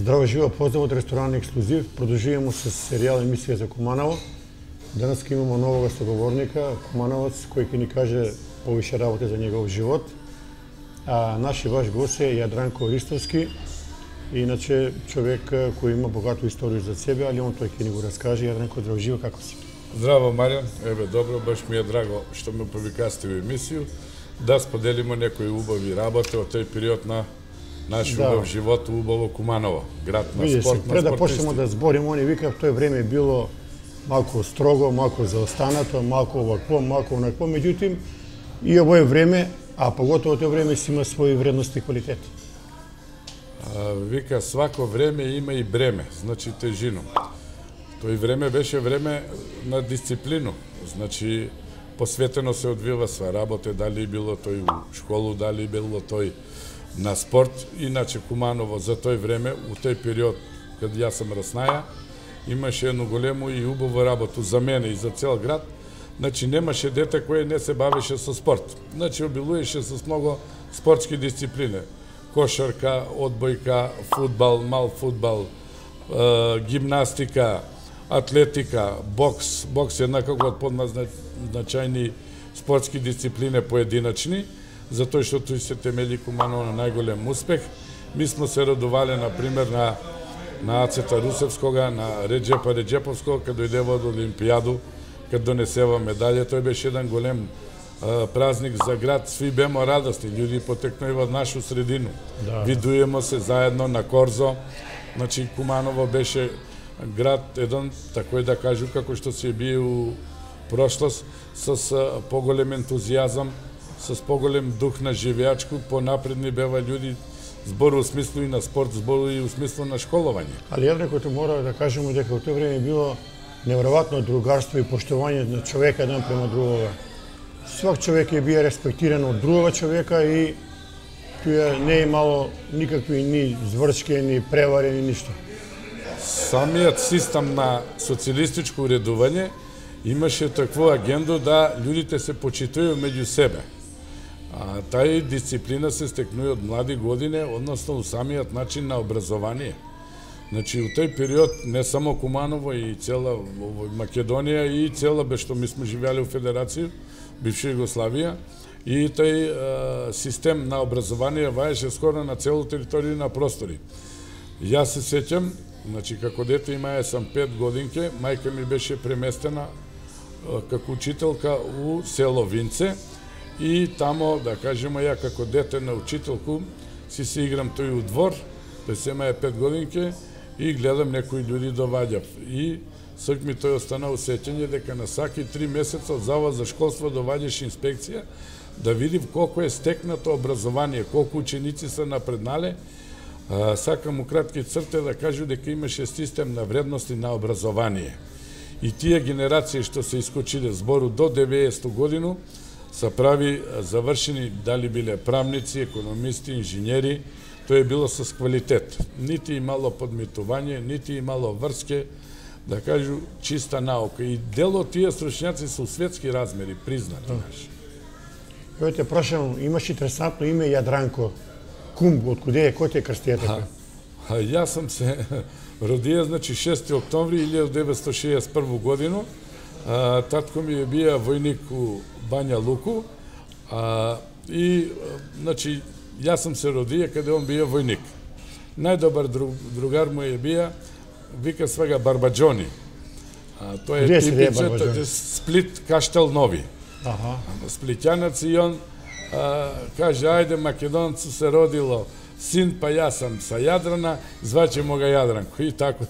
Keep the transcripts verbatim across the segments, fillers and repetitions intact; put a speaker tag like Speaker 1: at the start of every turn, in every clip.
Speaker 1: Здраво живо, поздрав од ресторан Ексклузив. Продолжуваме со серијал емисија за Куманово. Денес ќе имаме нового соговорника, кумановец, кој ќе ни каже повише работи за негов живот. А наши ваш гост е Јадранко Ристовски, иначе човек кој има богато историја за себе, али он тој ќе ни го раскаже. Јадранко, здраво живо, како си?
Speaker 2: Здраво, Маријан. Еве, добро, баш ми е драго што ме повикасте во емисију, да споделиме некои убави работи од тој период на наш да. убав живот, убаво Куманово, град на
Speaker 1: Види
Speaker 2: спорт,
Speaker 1: се,
Speaker 2: на
Speaker 1: пред да
Speaker 2: спортисти.
Speaker 1: почнемо да збориме, они вика, в тој време било малку строго, малку заостанато, малку овакво, малку онакво, меѓутоа и овое време, а поготово тој време си има своји вредности и квалитети.
Speaker 2: А, вика, свако време има и бреме, значи тежину. Тој време беше време на дисциплину, значи посветено се одвива сва работа, дали било тој у школу, дали било тој на спорт. Иначе Куманово за тој време, у тој период, кад јас сам раснаја, имаше едно големо и убаво работу за мене и за цел град. Значи немаше дете кое не се бавеше со спорт. Значи обилуеше со многу спортски дисциплини. Кошарка, одбојка, фудбал, мал фудбал, е, гимнастика, атлетика, бокс. Бокс е некако од подназначајни спортски дисциплини поединачни, затоа што тој се темели Куманово на најголем успех. Ми сме се радувале, например, на, на Ацета Русевскога, на Реджепа Реджеповского, кај дојдева од Олимпијаду, кај донесева медалја. Тој беше еден голем а, празник за град. Сви бемо радосни, луѓе потекнува од нашу средину. Да. Видуемо се заедно на Корзо. Значи, Куманово беше град, еден, такој да кажу, како што се бие у прошлост, с а, поголем ентузијазам, с поголем дух на живеачку, понапредни бева луѓе, збору у смислу и на спорт, збору и у смислу на школување.
Speaker 1: Али Јадранко, мора да кажеме дека во тој време било неверојатно другарство и поштовање на човека еден према другога. Свак човек е бие респектиран од другога човека и тоа не е имало никакви ни зврчки, ни превари, ни ништо.
Speaker 2: Самиот систем на социјалистичко уредување имаше таква агенда да луѓето се почитуваат меѓу себе. А тај дисциплина се стекнува од млади години, односно у самиот начин на образование. Значи, у тој период не само Куманово и цела Македонија и цела, бе што ми сме живеали у Федерација, бивша Југославија, и тој е, систем на образование ваеше скоро на целу територија на простори. Јас се сеќам, значи, како дете имаја сам пет годинке, мајка ми беше преместена е, како учителка у село Винце, и тамо, да кажеме, ја како дете на учителку, си се играм тој у двор, тој се имаја пет годинке, и гледам некои луѓе доваѓав. И сак ми тој остана усеќање дека на саки три месеца од Завод за школство доваѓаше инспекција да види колку е стекнато образование, колку ученици се напреднале. А, сакам у кратки црте да кажу дека имаше систем на вредности на образование. И тие генерации што се искочиле збору до деветдесета годину, са прави завршени, дали биле правници, економисти, инженери, тоа е било со квалитет. Нити имало подметување, нити имало врске, да кажу, чиста наука. И дел од тие стручњаци се у светски размери, признати наши.
Speaker 1: Јо те прашам, имаш интересантно име Јадранко. Кум, од куде е, кој те крстија така?
Speaker 2: А, јас сам се родија, значи, шести октомври илјадесет деветстотини шеесет и прва година. А, татко ми е бија војник у Бања Луку, а, и, значи, јас сам се родија каде он бија војник. Најдобар друг, другар му е бија, вика свега Барбаџони. А, тој е типичен Сплит Каштел Нови.
Speaker 1: Аха.
Speaker 2: Сплитјанец, и он а, каже, ајде, македонцу се родило син, па јас сам са Јадрана, звачемо ga Јадранко. И тако.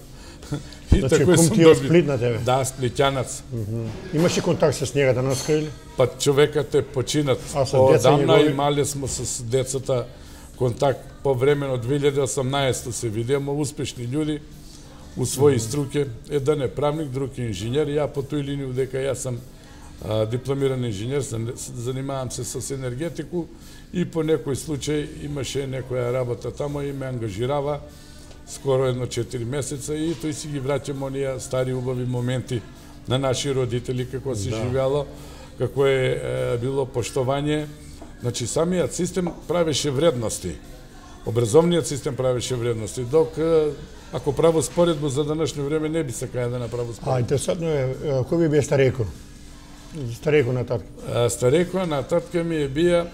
Speaker 2: И
Speaker 1: значи, кум ти е Сплит на тебе?
Speaker 2: Да, сплитјанец.
Speaker 1: Uh -huh. Имаш ли контакт с njega данас или?
Speaker 2: Па човекот е починат. Одамна имале сме с децата контакт по време на две илјади и осамнаесета се видиме, успешни луѓе у своји струке. Еден е правник, друг е инженер. Ја по тој линија дека јас сам а, дипломиран инженер, занимавам се с енергетику и по некој случај имаше некоја работа тамо и ме ангажирава скоро едно четири месеца и тој си ги враќам оние стари убави моменти на наши родители, како се да. живеало, како е, е било поштовање. Значи, самиот систем правеше вредности. образовниот систем правеше вредности, док ако право споредбо за данашно време не би сакаја да направи споредбо.
Speaker 1: А интересантно е, кој би бие стареко? Стареко на татка.
Speaker 2: Стареко на татка ми е бија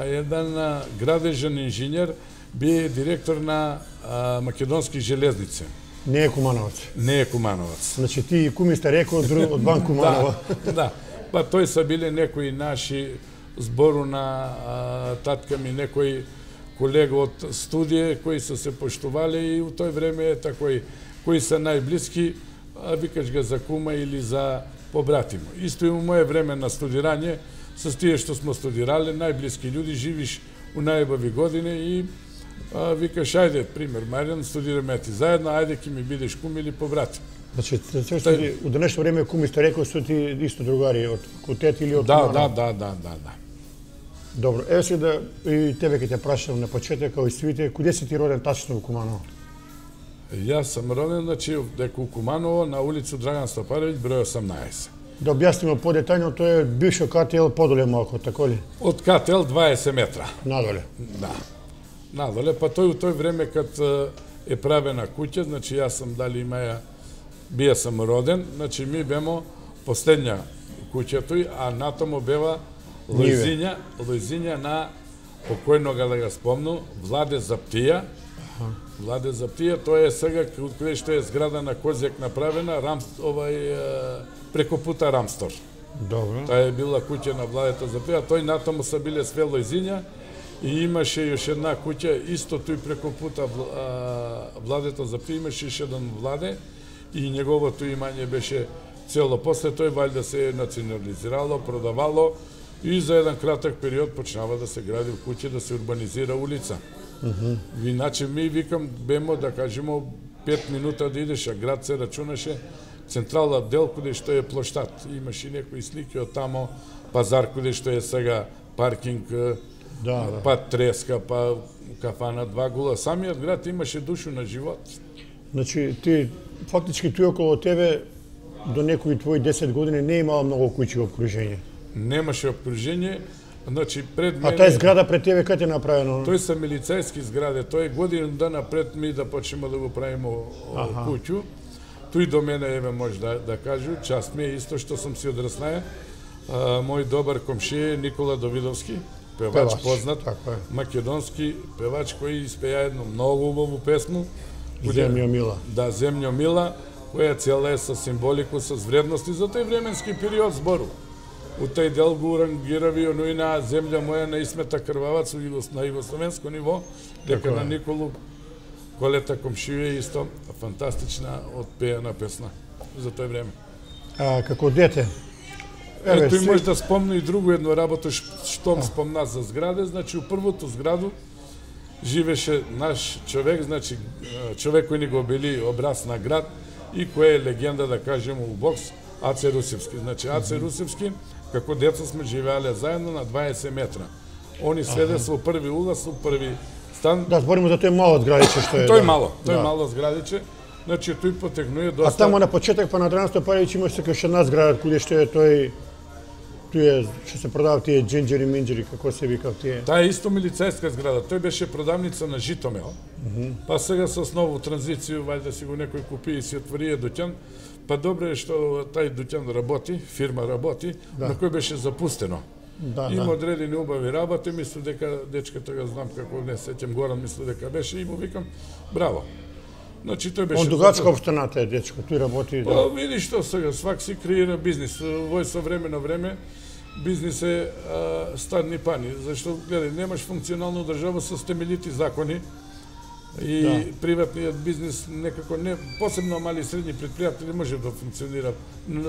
Speaker 2: еден градежен инженер, бие директор на а, Македонски железници.
Speaker 1: Не е Кумановац.
Speaker 2: Не е Кумановац.
Speaker 1: Значи ти куми стареко од, од Бан Куманова.
Speaker 2: Да, да. Па тој са биле некои наши збору на а, татка ми, некои колега од студија кои се се поштувале и у тој време е такој кои се најблиски, а викаш ga за кума или за побратимо. Исто и у моје време на студирање, со тие што смо студирале, најблиски луѓе, живиш у најубави години и а, викаш, ајде, пример, Маријан, студираме ти заедно, ајде ки ми бидеш кум или побратим.
Speaker 1: Значи, Тај... у денешно време куми стареко су ти исто другари од факултет или од
Speaker 2: Да, да, да, да, да, да.
Speaker 1: Добро, еве се да и тебе ќе те прашам на почеток, као и свите, куде си ти роден тачно во Куманово?
Speaker 2: Јас сам роден, значи, дека у Куманово, на улицу Драган Стопаровиќ, број осамнаесет.
Speaker 1: Да објаснимо подетајно, тоа е бившо КТЛ подоле малку, тако ли?
Speaker 2: Од КТЛ дваесет метра.
Speaker 1: Надоле?
Speaker 2: Да. Надоле, па тој у тој време кад е правена куќа, значи јас сам дали имаја, бија сам роден, значи ми бемо последња куќа тој, а натаму бева Лојзиња, Лојзиња на покојнога, да го спомну, Владе Заптија. Владе Заптија, тоа е сега каде што е зграда на Козјак направена, рам, овај преко пута Рамстор.
Speaker 1: Добро.
Speaker 2: Таа е била куќа на Владето Заптија, тој натаму са биле све Лојзиња и имаше још една куќа, исто тој преко пута Владето Заптија, имаше иш еден Владе и неговото имање беше цело. После тој валјда се национализирало, продавало и за еден краток период почнава да се гради в куќа, да се урбанизира улица.
Speaker 1: Uh-huh.
Speaker 2: Иначе ми викам бемо да кажемо пет минута да идеш, а град се рачунаше централна дел каде што е плоштад. Имаше некои слики од тамо, пазар каде што е сега паркинг,
Speaker 1: да, да.
Speaker 2: па треска, па кафана два гула. Самиот град имаше душу на живот.
Speaker 1: Значи ти фактички тој околу тебе до некои твои десет години не имала многу куќи во обкружење.
Speaker 2: Немаше обкружење. Значи пред мене...
Speaker 1: А тај зграда пред тебе каде е направено?
Speaker 2: Тој се милицајски зграде, тој е година дана пред ми да почнеме да го правиме куќу. Тој до мене, еве, може да, да кажу, част ми е исто што сум си одраснаја. Мој добар комшија е Никола Давидовски, певач, певач познат, македонски певач кој испеја едно многу убаво песму.
Speaker 1: Земјо мила.
Speaker 2: Да, Земјо мила, која цела е со символику, со вредности за тој временски период збору. У тај дел го урангирави оној на земја моја на Исмета Крвавац на југословенско ниво, дека на Николу Колета комшија исто фантастична отпеана песна за тој време.
Speaker 1: А како дете?
Speaker 2: Еве, тој може да спомне и друго едно работа што спомна за зграде, значи у првото зграду живеше наш човек, значи човек кој ни го били образ на град и кој е легенда, да кажеме, у бокс, Аце Русевски. Значи Аце Русевски, како деца сме живеале заедно на дваесет метра. Они седе со први улаз, со први стан.
Speaker 1: Да, збориме за тој мало зградиче што е.
Speaker 2: Тој мало, тој мало зградиче. Значи тој потегнува доста.
Speaker 1: А тамо на почеток па на Драган Стопаровиќ имаше како уште една зграда каде што е тој тој е што се продаваат тие джинџери минџери, како се викаат тие.
Speaker 2: Таа е исто милицајска зграда. Тој беше продавница на Житомел. Па сега со нову транзиција вајде си го некој купи и си отвори дуќан. Па добре е што тај дуќан работи, фирма работи, да. На кој беше запустено. Да, има да. Одредени убави работи, мислам дека дечката го знам како не сеќам Горан, мислам дека беше и му викам браво. Значи тој беше.
Speaker 1: Он дугачка општаната е дечко, тој работи.
Speaker 2: Па да. Види што сега свак си креира бизнис. Вој со време на време бизнис е а, стадни пани, зашто гледај немаш функционална држава со темелити закони. И да. Приватниот бизнес некако не, посебно мали и средни предпријатели може да функционира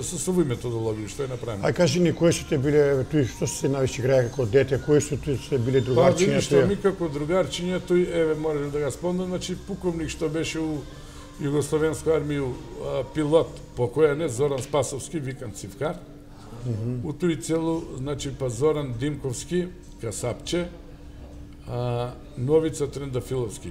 Speaker 2: со свој методологија, што е направено.
Speaker 1: Ај кажи ни кои се те биле, тој што се највише играе како дете, кои се тој се биле другарчиња?
Speaker 2: Па види што ми како другарчиња, тој еве можеш да го спомнам, значи пуковник што беше у Југословенска армија, пилот покојане Зоран Спасовски, викан Цивкар. Mm -hmm. У тој целу, значи па Зоран Димковски, касапче, а, Новица Трендафиловски,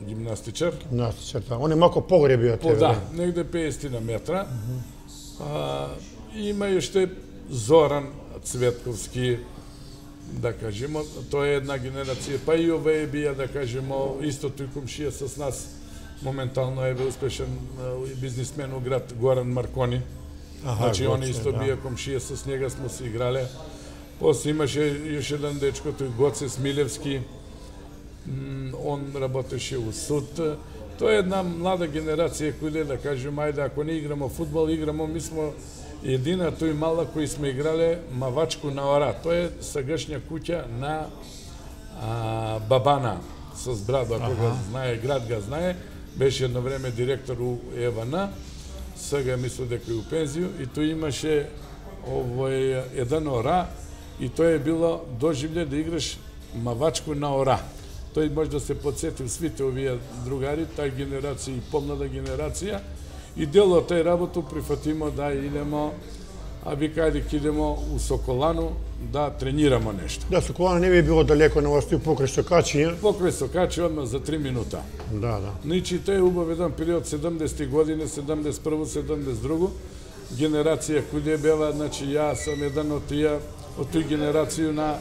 Speaker 2: гимнастичар.
Speaker 1: Гимнастичар, да. Он е малку погоре био тебе.
Speaker 2: Да, негде педесет метра. Mm -hmm. а, има уште Зоран Цветковски, да кажемо, тоа е една генерација, па и овие бија, да кажемо, исто тој комшија с нас, моментално е успешен бизнисмен у град Горан Маркони.
Speaker 1: Аха,
Speaker 2: значи,
Speaker 1: Гоце,
Speaker 2: они исто
Speaker 1: да.
Speaker 2: бија комшија, с njega смо се играле. После имаше још еден дечко, тој Гоце Смилевски, он работеше у суд. Тоа е една млада генерација која, да кажем, ајде, ако не играмо фудбал, играмо, ми смо едина тој мала кој сме играле Мавачку на Ора. Тоа е сегашња куќа на а, Бабана со Брадо, ако го знае, град ga знае, беше едно време директор у ЕВН, сега мислам дека е у пензију, и тој имаше овој еден Ора, и тоа е било доживле да играш Мавачку на Ора. Тој може да се подсети свите овие другари, тај генерација и помлада генерација, и дел од тај работу прифатимо да идемо, а ви каде идемо у Соколану да тренирамо нешто.
Speaker 1: Да, Соколана не би било далеко на вас, покрај Сокачија.
Speaker 2: Покрај Сокачи одма за три минута.
Speaker 1: Да, да.
Speaker 2: Значи, тој е убав еден период седумдесети години, седумдесет и прво, седумдесет и друго, генерација која бева, значи, јас сум еден од тие, од тој генерација на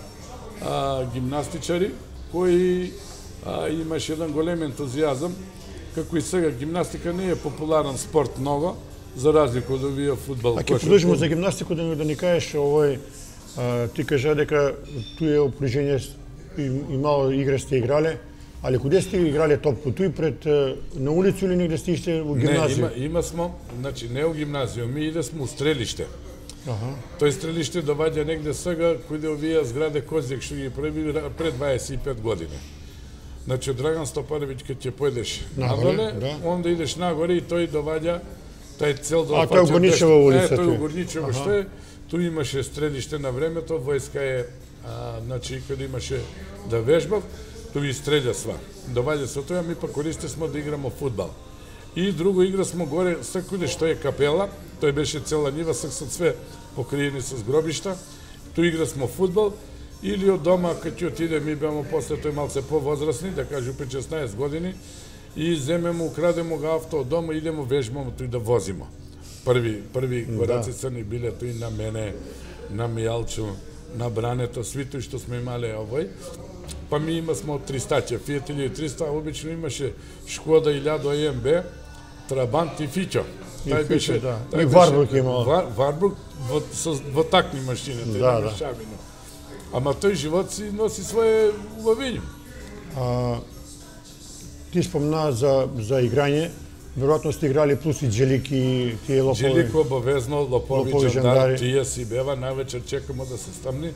Speaker 2: а, гимнастичари, кои а, имаше еден голем ентузијазам, како и сега гимнастика не е популарен спорт много, за разлика од овие фудбал.
Speaker 1: А ќе продолжиме за гимнастику, да, да ни кажеш овој, а, ти кажа дека туе опружение и, и мало игра сте играле, али куде сте играле топку? Туј пред на улицу или негде сте иште во гимназија?
Speaker 2: Не, има, има смо, значи не у гимназија, ми иде смо у стрелиште.
Speaker 1: Аха.
Speaker 2: Тој стрелиште доваѓа негде сега, кој овие зграде Козјак што ги прави пред дваесет и пет години. Значи, од Драган Стопаровиќ, кога ќе појдеш нагоре,
Speaker 1: да.
Speaker 2: онда идеш нагоре и тој доваѓа тај цел да
Speaker 1: А, тој у Горничева улица,
Speaker 2: Е, тој
Speaker 1: тој.
Speaker 2: у Горничева што е, тој имаше стрелиште на времето, војска е, а, значи, кога имаше да вежбав, тој и стреља сва. Доваѓа со тоа, ми па користе смо да играмо фудбал. И друго игра смо горе, секуде што е капела, тој беше цела нива, сак со све покриени с гробишта, тој игра смо фудбал, или од дома, кога ќе отиде, ми беамо после тој малце повозрасни, да кажу при шеснаесет години, и земемо, украдемо го авто од дома, идемо, вежбамо тој да возимо. Први, први кораци црни биле тој на мене, на Мијалчо, на Брането, сви тој што сме имале овој. Па ми има смо тристаќа, Фијат или триста, обично имаше Шкода илјада Е Ем Бе, Трабант и Фиќо.
Speaker 1: Тај беше, да. И Варбрук имал.
Speaker 2: Вар, Варбрук во, со, во такни машини,
Speaker 1: да, да.
Speaker 2: Шабино. Ама тој живот си носи своje убавиња.
Speaker 1: А, ти спомна за, за играње, веројатно сте играли плюс и Джелики и тие лопови.
Speaker 2: Джелик обавезно, лопови,
Speaker 1: Лопови,
Speaker 2: Жандар,
Speaker 1: Жандари.
Speaker 2: тие си бева, највечер чекамо да се стамни.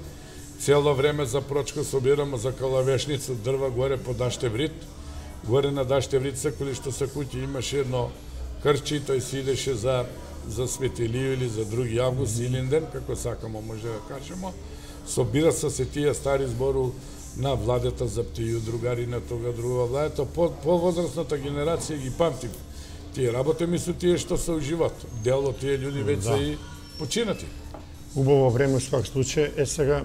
Speaker 2: Цело време за прочка собирамо за калавешница дрва горе по Даштеврит. Горе на Даштеврит, секоли што се куќи имаше едно крчи, тој си идеше за, за Светилију или за други август, Илинден, како сакамо може да кажемо. Собира се се тие стари збору на владета за птију, другари на тога, друга владета. По, по-возрастната генерација ги памти тие работи, ми су тие што се у живот. Дел од тие луѓе веќе се и починати.
Speaker 1: Убаво време во свак случај. Е сега,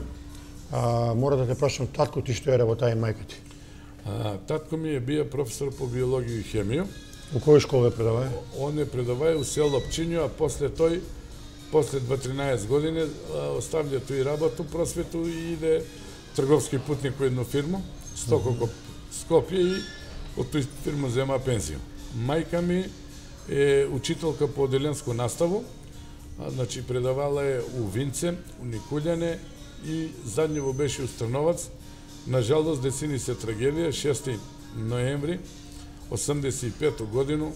Speaker 1: а, мора да те прашам, татко ти што е работа и мајка ти?
Speaker 2: А, татко ми е бија професор по биологија и хемија.
Speaker 1: У која школа е предавај?
Speaker 2: Он е предавај у село Пчињу, а после тој, после дваесет години, оставља тој работу, просвету и иде трговски путник во едно фирма, Стококо Скопје, и од тој фирма зема пензија. Мајка ми е учителка по оделенско наставу, а, значи предавала е у Винце, у Никулјане и задњево беше у Стрновац. Нажалост, децини се трагедија, шести ноември осумдесет и пета годину,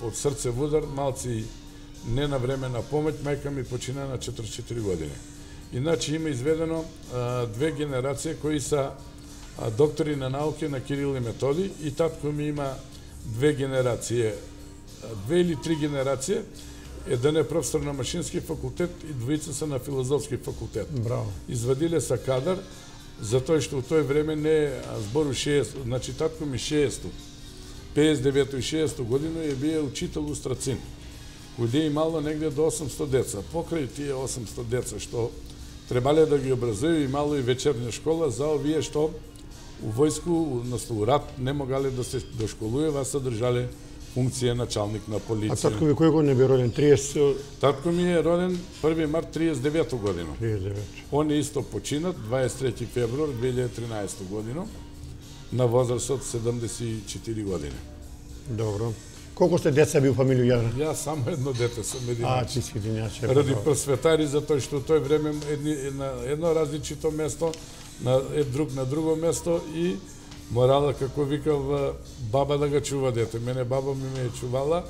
Speaker 2: од срцев удар, малци не на време на помоќ, мајка ми почина на четиридесет и четири години. Иначе има изведено а, две генерации кои са а, доктори на науки на Кирил и Методи, и татко ми има две генерации, две или три генерации. Еден е професор на машински факултет и двојца се на филозофски факултет.
Speaker 1: Браво.
Speaker 2: Извадиле са кадар, затоа што у тој време не збору шеесет, значи татко ми шеесет, педесет и девета и шеесета година е бие учител у Страцин, кој имало негде до осумстот деца. Покрај тие осумстот деца што требале да ги образују, имало и вечерна школа за овие што у војску, односно у рат, не могале да се дошколујува, се држале функција началник на
Speaker 1: А
Speaker 2: полиција.
Speaker 1: татко ви кој година би роден? триесет
Speaker 2: Татко ми е роден први март триесет и девета година.
Speaker 1: триесет и девет.
Speaker 2: Он е исто починат дваесет и трети февруар две илјади и тринаесета година на возраст од седумдесет и четири години.
Speaker 1: Добро. Колку сте деца би у фамилија Јадра?
Speaker 2: Јас само едно дете сум
Speaker 1: А,
Speaker 2: единач.
Speaker 1: ти си единач.
Speaker 2: Ради просветари, затоа што тој време едни, на едно различито место, на ед друг на друго место и морала, како викав, баба да го чува дете. Мене баба ми ме чувала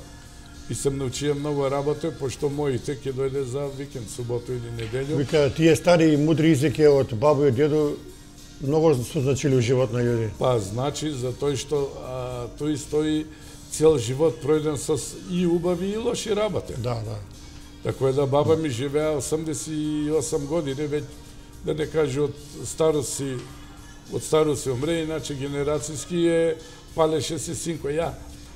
Speaker 2: и сам научија многу работа, пошто моите ќе дојде за викенд, суботу или неделју.
Speaker 1: Вика, тие стари и мудри изреки од бабу и дедо многу се значили у живот на луѓе.
Speaker 2: Па, значи, за тој што а, тој стои цел живот пројден со и убави и лоши работи.
Speaker 1: Да, да.
Speaker 2: Така е да баба ми живеа осумдесет и осум години, веќе да не каже од старост си, од старост си умре, иначе генерацијски е палеше си синко. Ја,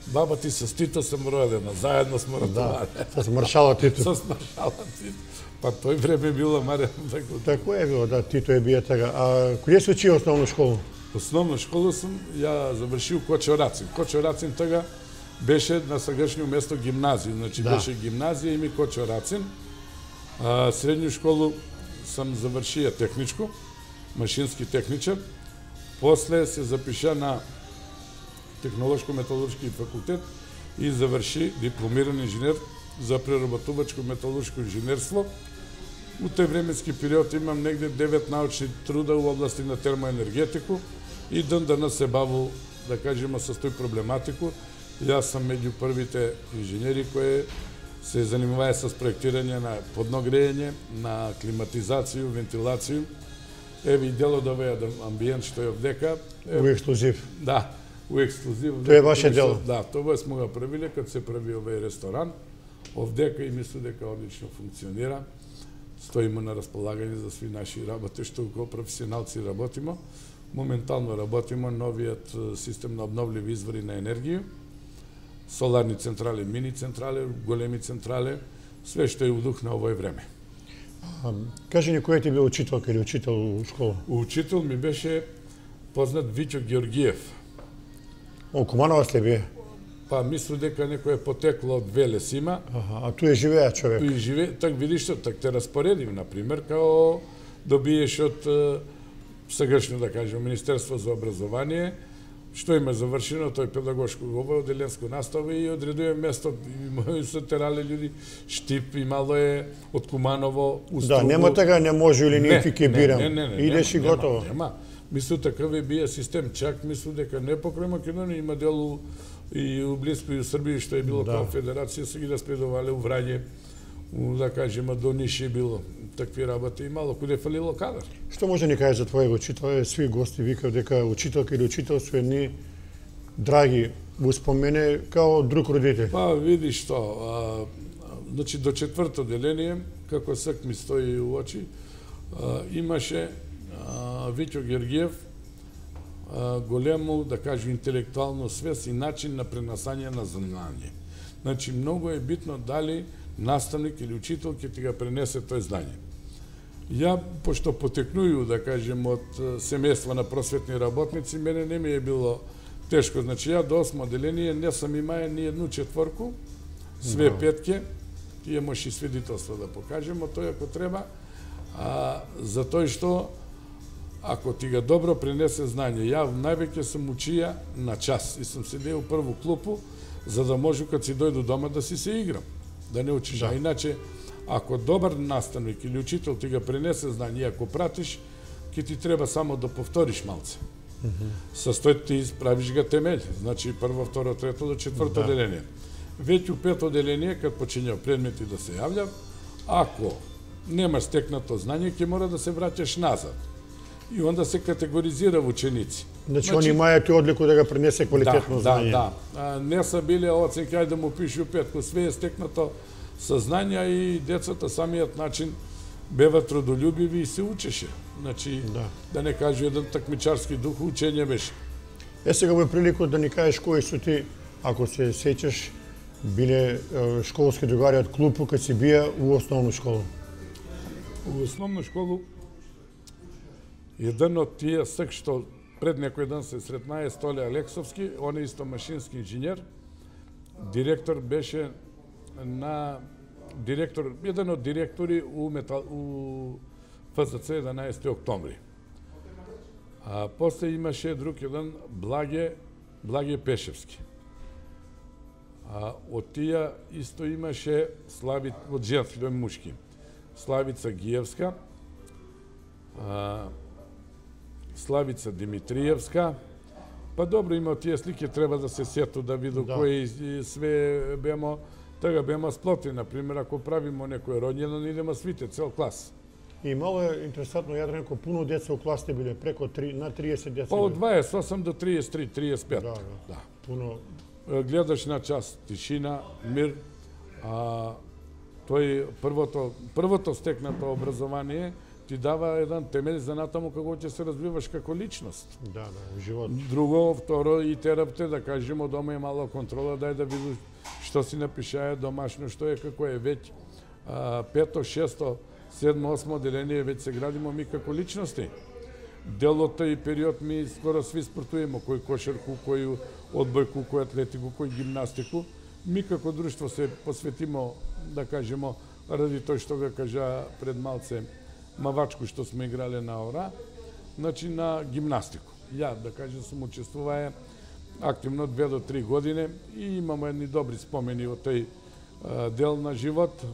Speaker 2: баба ти со Тито сум родена, заедно сме ратували.
Speaker 1: Да, со маршала Тито.
Speaker 2: Со маршала Тито. Па тој време било Марија.
Speaker 1: Тако е било, да, Тито е бија така. А каде се учи основна школа?
Speaker 2: Основна школа сум, ја завршил Кочо Рацин. Кочо Рацин тога беше на сегашно место гимназија, значи
Speaker 1: Да.
Speaker 2: беше гимназија и ми Кочо Рацин. А, средњу школу сам завршија техничко, машински техничар. После се запиша на Технолошко-металуршки факултет и заврши дипломиран инженер за преработувачко металуршко инженерство. У тој временски период имам негде девет научни труда во области на термоенергетику и ден денес се баву, да кажеме, со тој проблематику. Јас сум меѓу првите инженери кои се занимаваја со проектирање на подногрејење, на климатизација, вентилација. Еве и дел од овој амбиент што е овдека.
Speaker 1: У ексклузив.
Speaker 2: Да, у ексклузив.
Speaker 1: Тоа е ваше дело.
Speaker 2: Да, тоа сме го правиле кога се прави овој ресторан. Овдека и мислам дека одлично функционира. Стоиме на располагање за сви наши работи, што како професионалци работиме. Моментално работиме новиот систем на обновливи извори на енергија, соларни централи, мини централи, големи централи, све што е у дух на овој време.
Speaker 1: А, кажи ни кој ти бил учителка или учител у школа?
Speaker 2: Учител ми беше познат Вичо Георгиев.
Speaker 1: О, Кумановаc ли бие?
Speaker 2: Па мислу дека некој е потекло од Велес има.
Speaker 1: Аха, а туе живеа човек.
Speaker 2: И живе, так видиш што, так те распоредив, например, као добиеш од е, сегашно, да кажем, Министерство за образование, што има завршено, тој педагошко ово оделенско настава и одредуе место, и се терале луѓе, Штип, имало е од Куманово, Устругу.
Speaker 1: Да, нема така, не може или не ти ќе бирам.
Speaker 2: Не, не, не,
Speaker 1: Идеш
Speaker 2: нема,
Speaker 1: и готово.
Speaker 2: Нема, нема. Мислу такав е бија систем, чак мислу дека не покрај Македонија има делу и у блиско и у Србија што е било
Speaker 1: Да.
Speaker 2: као федерација, се ги распредовале у Врање, у, да кажеме, до Ниш е било. Такви работи имало, куде фалило кадар.
Speaker 1: Што може да ни кажеш за твојот учител? Сви гости викав дека учителка или учител се едни драги, го спомене као друг родител.
Speaker 2: Па, види што, а, значи до четврто деление, како сак ми стои у очи, а, имаше а, Вичо Георгиев, а, големо, да кажу, интелектуално свест и начин на пренасање на знање. Значи, многу е битно дали наставник или учител ќе ти го пренесе тој знање. Ја, пошто потекнују, да кажем, од семејство на просветни работници, мене не ми е било тешко. Значи, ја до осмо деление не сам имаја ни едну четворку, све
Speaker 1: Да.
Speaker 2: петке, тие може и свидетелство да покажемо, тој ако треба, а, за тој што ако ти ga добро пренесе знање. Ја највеќе сум учија на час и сум седео у прву клупу, за да можу кога си дојду дома да си се играм, да не учиш.
Speaker 1: Да.
Speaker 2: А иначе, ако добар наставник или учител ти ga пренесе знање и ако пратиш, ќе ти треба само да повториш малце. Mm -hmm. Состои ти правиш га темел, значи прво, второ, трето до четврто
Speaker 1: Да.
Speaker 2: деление. Веќе у пето деление, кад почиња предмети да се јавља, ако немаш стекнато знање, ќе мора да се враќаш назад. И онда се категоризира ученици.
Speaker 1: Значи, они имајат одлику да го пренесе квалитетно
Speaker 2: да,
Speaker 1: знање.
Speaker 2: Да, да. А, не са биле оценки, ајде да му пишу петко, све е стекнато со знања и децата самиот начин бева трудолюбиви и се учеше. Значи,
Speaker 1: Да.
Speaker 2: да не кажу еден такмичарски дух, учење беше.
Speaker 1: Е, сега во прилику да ни кажеш кои су ти, ако се сеќаш, биле е, школски другари од клупу кога си бија у основна школа.
Speaker 2: У основна школу еден од тие сак што пред некој ден се сретна е Столе Алексовски, он е исто машински инженер. директор беше на директор, еден од директори у метал у Ф С Ц единаесети октомври. А после имаше друг еден Благе Благе Пешевски. А од тие исто имаше Слави од женски до мушки. Славица Гиевска, а, Славица Димитриевска. Па добро, има тие слики, треба да се сету да виду да. Кои све бемо, така бемо сплоти, например, ако правимо некој роѓендан, идемо свите, цел клас.
Speaker 1: И мало е интересантно, Јадранко, пуно деца у класите биле, преко три, на триесет деца.
Speaker 2: Па од дваесет и осум до триесет и три, триесет и пет.
Speaker 1: Да, да.
Speaker 2: Да.
Speaker 1: Пуно...
Speaker 2: Гледаш на час тишина, мир, а тој првото, првото стекнато образование ти дава еден темел за натаму како ќе се развиваш како личност. Да, да, во живот. Друго, второ, и терапте, да кажемо, дома е мало контрола, дај да видиш што си напишае домашно, што е, како е веќе. А, пето, шесто, седмо, осмо деление, веќе се градимо ми како личности. Дел од тој период ми скоро сви спортуемо, кој кошарку, кој одбојку, кој атлетику, кој гимнастику. Ми како друштво се посветимо, да кажемо, ради тој што го кажа пред малце мавачку што сме играле на ора, значи на гимнастику. Ја, да кажем, сум учествувае активно две до три години и имамо едни добри спомени од тој а, дел на живот,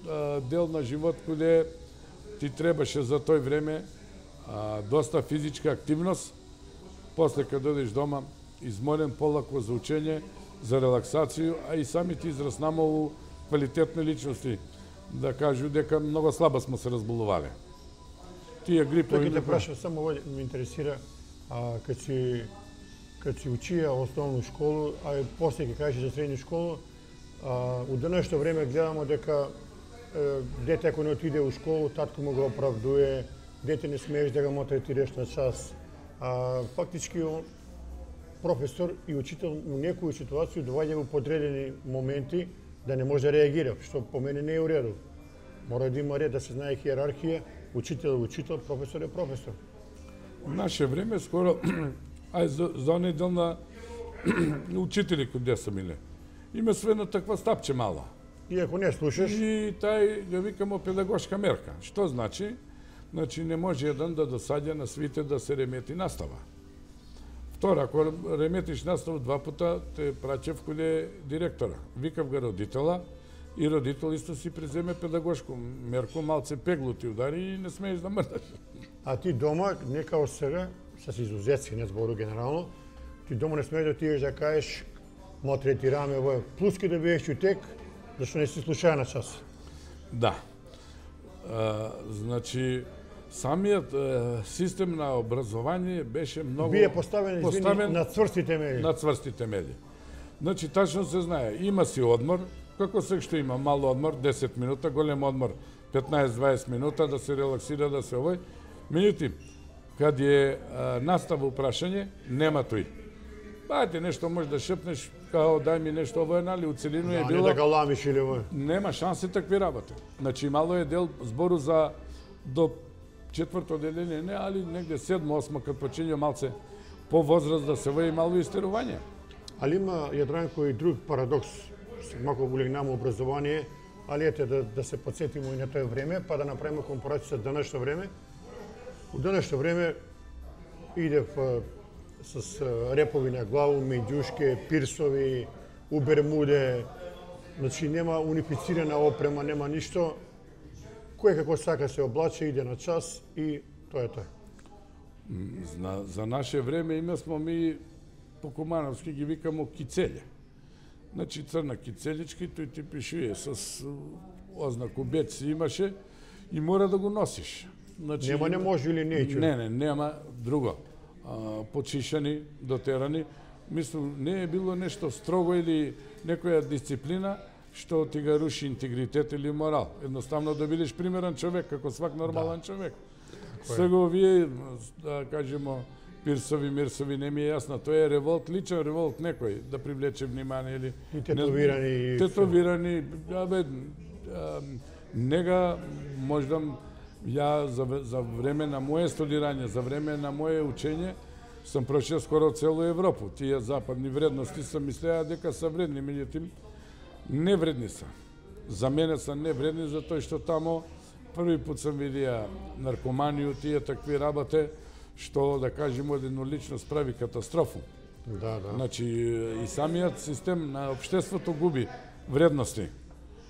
Speaker 2: а, дел на живот каде ти требаше за тој време а, доста физичка активност, после кога додеш дома, изморен, полако за учење, за релаксација, а и самите израснamo у квалитетни личности, да кажу дека многу слабо сме се разболувале. Тие грипови...
Speaker 1: Тој те праша, само овој ме интересира, а, кад си, кад си учија основну школу, а и после ќе кажеш за средна школа, а, у денешно време гледамо дека е, дете ако не отиде у школу, татко му го оправдуе, дете не смееш да го мотретираш на час. А, фактички професор и учител у некои ситуации доваѓа во подредени моменти да не може да реагира, што по мене не е у реду. Мора да има ред, да се знае хиерархија, учител е учител, професор е професор.
Speaker 2: В наше време скоро, ај за, за онaj дел на учители кој са миле, има све на таква стапче мало.
Speaker 1: И ако не слушаш...
Speaker 2: И тај го викамо педагошка мерка. Што значи? Значи не може еден да досаѓа на свите да се ремети настава. Втора, ако реметиш настава два пута, те праќев каде директора. Викав го родитела и родител исто си преземе педагошку мерку, малце пегло ти удари и не смееш да мрдаш.
Speaker 1: А ти дома, не као сега, с изузеци, не збору генерално, ти дома не смееш да отидеш да кажеш мотретираме ово, плюски да биеш чутек, зашто не си слушаја на час.
Speaker 2: Да. А, значи, самиот е, систем на образование беше многу...
Speaker 1: Бие поставен, поставен извини, на цврсти темели.
Speaker 2: На цврсти темели. Значи, тачно се знае, има си одмор, како се што има, мал одмор, десет минута, голем одмор, петнаесет-дваесет минута, да се релаксира, да се овој. Меѓутоа, кад е а, настава прашање, нема тој. Бајте, нешто може да шепнеш, као дај ми нешто овој, нали, у целину
Speaker 1: да,
Speaker 2: е било...
Speaker 1: Да, не да галамиш или овој.
Speaker 2: Нема шанси такви работи. Значи, мало е дел збору за до четврто деление, не, али негде седмо, осмо, кад почиња малце по возраст да се вои мало истерување.
Speaker 1: Али има, Јадранко, и друг парадокс. Малку улегнamo образование, али ете да, да се подсетимо и на тоа време, па да направиме компарација со денешно време. У денешно време идев с репови на главу, меѓушке, пирсови, у Бермуде, значи нема унифицирана опрема, нема ништо. Кој како сака се облаче, иде на час и тоа е тоа.
Speaker 2: За, за наше време има смо ми по кумановски ги викамо кицеле. Значи црна кицелички, тој ти пишуе с ознаку бет си имаше и мора да го носиш. Значи,
Speaker 1: нема не може или не
Speaker 2: Не, не, нема друго. А, почишани, дотерани. Мислам, не е било нешто строго или некоја дисциплина што ти ga руши интегритет или морал. Едноставно да бидеш примерен човек, како свак нормален да. човек. Сега овие, да кажемо, пирсови, мирсови, не ми е јасно. Тоа е револт, личен револт некој, да привлече внимание или...
Speaker 1: И тетовирани...
Speaker 2: Не, тетовирани, абе, нега мождам, ја за, за време на моје студирање, за време на моје учење, сам прошел скоро целу Европу. Тие западни вредности сам мислеа дека се вредни, меѓутоа невредни се. За мене се невредни затоа што тамо први пат сам видија наркоманiju, тие такви работи, што да кажеме еднолично прави катастрофу.
Speaker 1: Да, да.
Speaker 2: Значи и самиот систем на општеството губи вредности.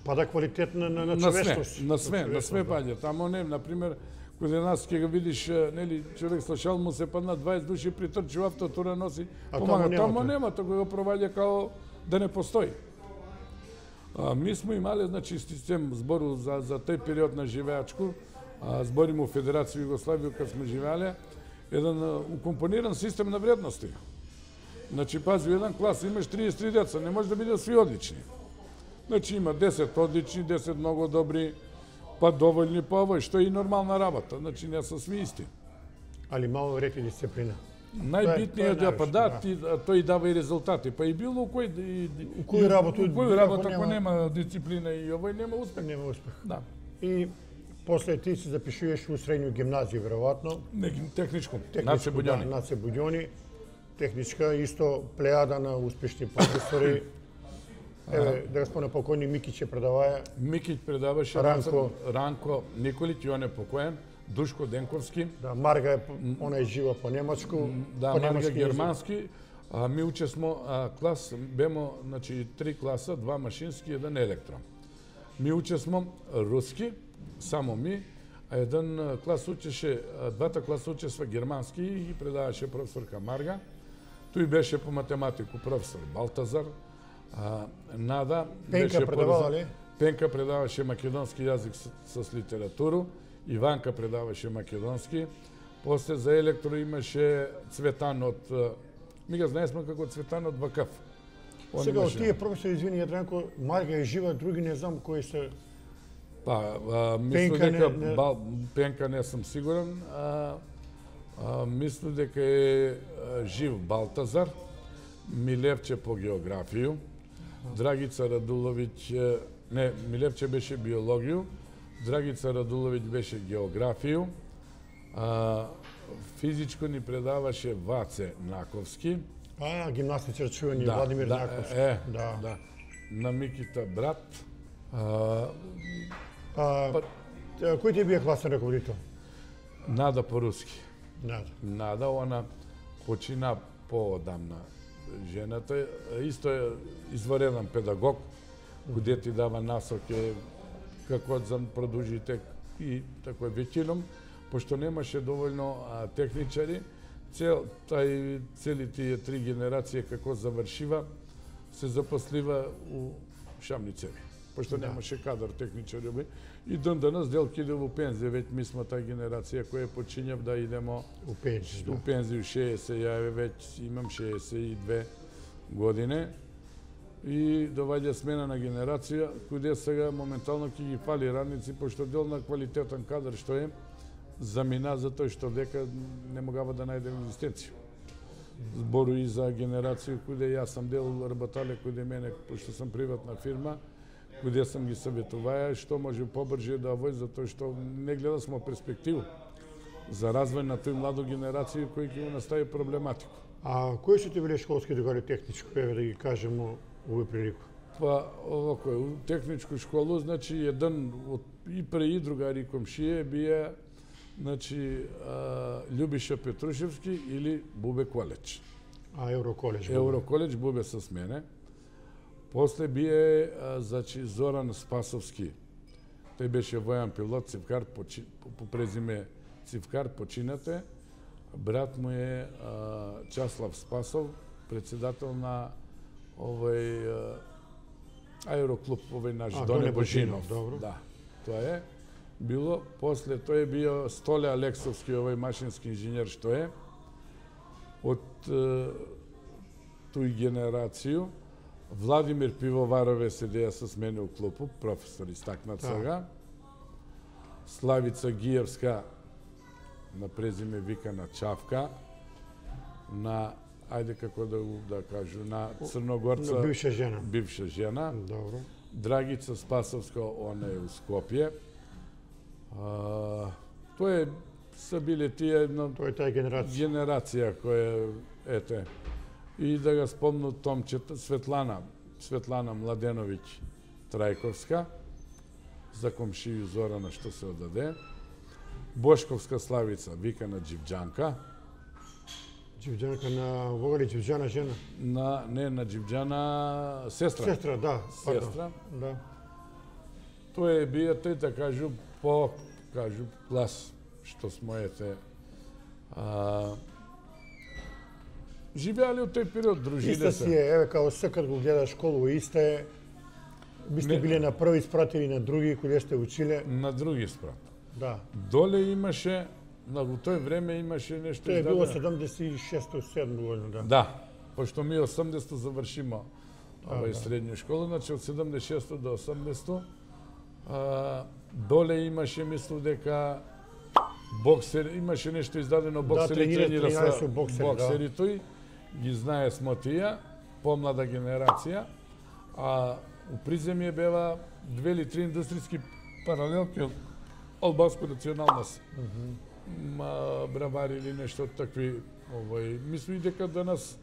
Speaker 1: Пада квалитет на на, на човечност.
Speaker 2: На све, на све паѓа. Тамо не, на пример, кога нас ќе го видиш, нели, човек слушал му се падна дваесет души притрчи авто, тура носи,
Speaker 1: а
Speaker 2: помага.
Speaker 1: Тамо,
Speaker 2: тамо нема, тоа го проваѓа као да не постои. А, ми сме имале, значи, систем збору за, за тој период на живеачку, а, збориме у Федерација Југославија, кога сме живеале, еден укомпониран систем на вредности. Значи, пази, еден клас имаш триесет и три деца, не може да бидат сви одлични. Значи, има десет одлични, десет многу добри, па доволни, па овој, што е и нормална работа. Значи, не се сви исти.
Speaker 1: Али мало ред и дисциплина.
Speaker 2: Најбитниот е, па да, ти, тој дава и резултати. Па и било у кој
Speaker 1: у кој работа,
Speaker 2: у кој работа ако нема дисциплина и овој нема успех.
Speaker 1: Нема успех.
Speaker 2: Да.
Speaker 1: И после ти се запишуваш у средњу гимназија веројатно.
Speaker 2: Не, техничко.
Speaker 1: Наце Будјони. Да, Наце Будјони. Техничка исто плејада на успешни професори. Еве, да го спомнам покојни Микиć предаваја.
Speaker 2: Микиć предаваше,
Speaker 1: Ранко,
Speaker 2: Ранко Николиć, и он е покоен, Душко Денковски.
Speaker 1: Да, Марга е, она е жива по немачку,
Speaker 2: да,
Speaker 1: по
Speaker 2: Марга германски. А, ми учесмо а, клас, бемо, значи, три класа, два машински, еден електро. Ми учесмо руски, само ми, а еден клас учеше, двата класа учесва германски и предаваше професорка Марга. Тој беше по математику професор Балтазар. А, Нада
Speaker 1: Пенка предавала ли?
Speaker 2: Пенка предаваше македонски јазик с, с литературу, Иванка предаваше македонски. После за електро имаше Цветан од, ми го знаесме како Цветан од Вакаф.
Speaker 1: Он сега од тие професори, извини Јадранко, Марга е жива, други не знам кои се.
Speaker 2: Па, а, мислам дека не, не... Бал, Пенка не сум сигурен, а, а мислам дека е а, жив Балтазар, Милевче по географију, Драгица Радуловиќ, не, Милевче беше биологију, Драгица Радуловиќ беше географију, а, физичко ни предаваше Ваце Наковски.
Speaker 1: А, гимнастичар чувени,
Speaker 2: да,
Speaker 1: Владимир
Speaker 2: да,
Speaker 1: Наковски.
Speaker 2: Е,
Speaker 1: да.
Speaker 2: да. На Микита брат. А,
Speaker 1: а, па, кој ти бие класен раководител?
Speaker 2: Нада по-руски.
Speaker 1: Нада.
Speaker 2: Нада, она почина поодамна. Жената исто е извареден педагог, каде ти дава насоки како да продолжите и тако е веќином, пошто немаше доволно а, техничари, цел тај цели тие три генерации како завршива се запослива у Шамницеви, пошто да. Немаше кадар техничари и ден денес делки иде во пензија, веќе ми сме тај генерација која почињав да идемо
Speaker 1: у пензија.
Speaker 2: Да. У пензија шеесет, ја веќе имам шеесет и две години и доваѓа смена на генерација, каде сега моментално ќе ги фали радници, пошто дел на квалитетен кадар што е, замина за тој што дека не могава да најде екзистенција. Збору и за генерација каде јас сам дел работале каде мене, пошто сам приватна фирма, каде сам ги советуваја што може побрже да вој, затоа што не гледа смо перспективу за развој на тој младо генерација кој ќе го настави проблематику.
Speaker 1: А кои се ти биле школски другари техничко, еве да ги кажемо овој прилику?
Speaker 2: Па, овако, у техничку школу, значи, еден од и пре и другари комшије бија, значи, а, Љубиша Петрушевски или Бубе Колеч.
Speaker 1: А, Евроколеч.
Speaker 2: Евроколеч, Бубе с мене. После бие, а, значи, Зоран Спасовски. Тој беше војан пилот, цивкар, почи, по, по презиме Цивкар, починате. Брат му е а, Часлав Спасов, председател на овој а, аероклуб, овој наш а, Доне Божинов.
Speaker 1: Добро.
Speaker 2: Да, тоа е било. После тој е био Столе Алексовски, овој машински инженер што е. Од а, тој генерацију Владимир Пивоварове седеја с мене у клубу, професор истакнат сега. Славица Гиевска, на презиме викана Чавка, на, ајде како да да кажу, на Црногорца,
Speaker 1: на бивша жена.
Speaker 2: Бивша жена.
Speaker 1: Добро.
Speaker 2: Драгица Спасовска, она е у Скопје. А, тоа е се биле тие една
Speaker 1: Тоа е таа генерација.
Speaker 2: генерација која ете. И да го спомну Томчета Светлана, Светлана Младеновиќ Трајковска, за комшију Зорана што се одаде. Бошковска Славица, викана Џивџанка.
Speaker 1: Џивџанка на Вогали Џивџана жена.
Speaker 2: На не на Џивџана сестра.
Speaker 1: Сестра, да, пардон.
Speaker 2: Сестра.
Speaker 1: Да.
Speaker 2: Тоа е бија тој да кажу по кажу глас што смо ете а, живеале од тој период, дружиле
Speaker 1: Иста
Speaker 2: се.
Speaker 1: си е, еве као секад го гледаш школу, иста е. Би сте
Speaker 2: Не.
Speaker 1: биле на први испратили на други кои сте училе.
Speaker 2: На други спрат.
Speaker 1: Да.
Speaker 2: Доле имаше, на во тој време имаше нешто
Speaker 1: Тоа е било
Speaker 2: издадено.
Speaker 1: седумдесет и шесто седмо година, да.
Speaker 2: Да, пошто ми осумдесето завршимо овај
Speaker 1: да.
Speaker 2: средња школа, значи од седумдесет и шесто до осумдесето а, доле имаше, мислам дека боксер, имаше нешто издадено боксери,
Speaker 1: тренира-
Speaker 2: тренира
Speaker 1: тренира
Speaker 2: со
Speaker 1: со боксери, да.
Speaker 2: боксери тој, ги знае смо тие, помлада генерација, а у приземје бева две или три индустријски паралелки од албанска националност. Ма бравари или нешто од такви, овој, мислам и дека данас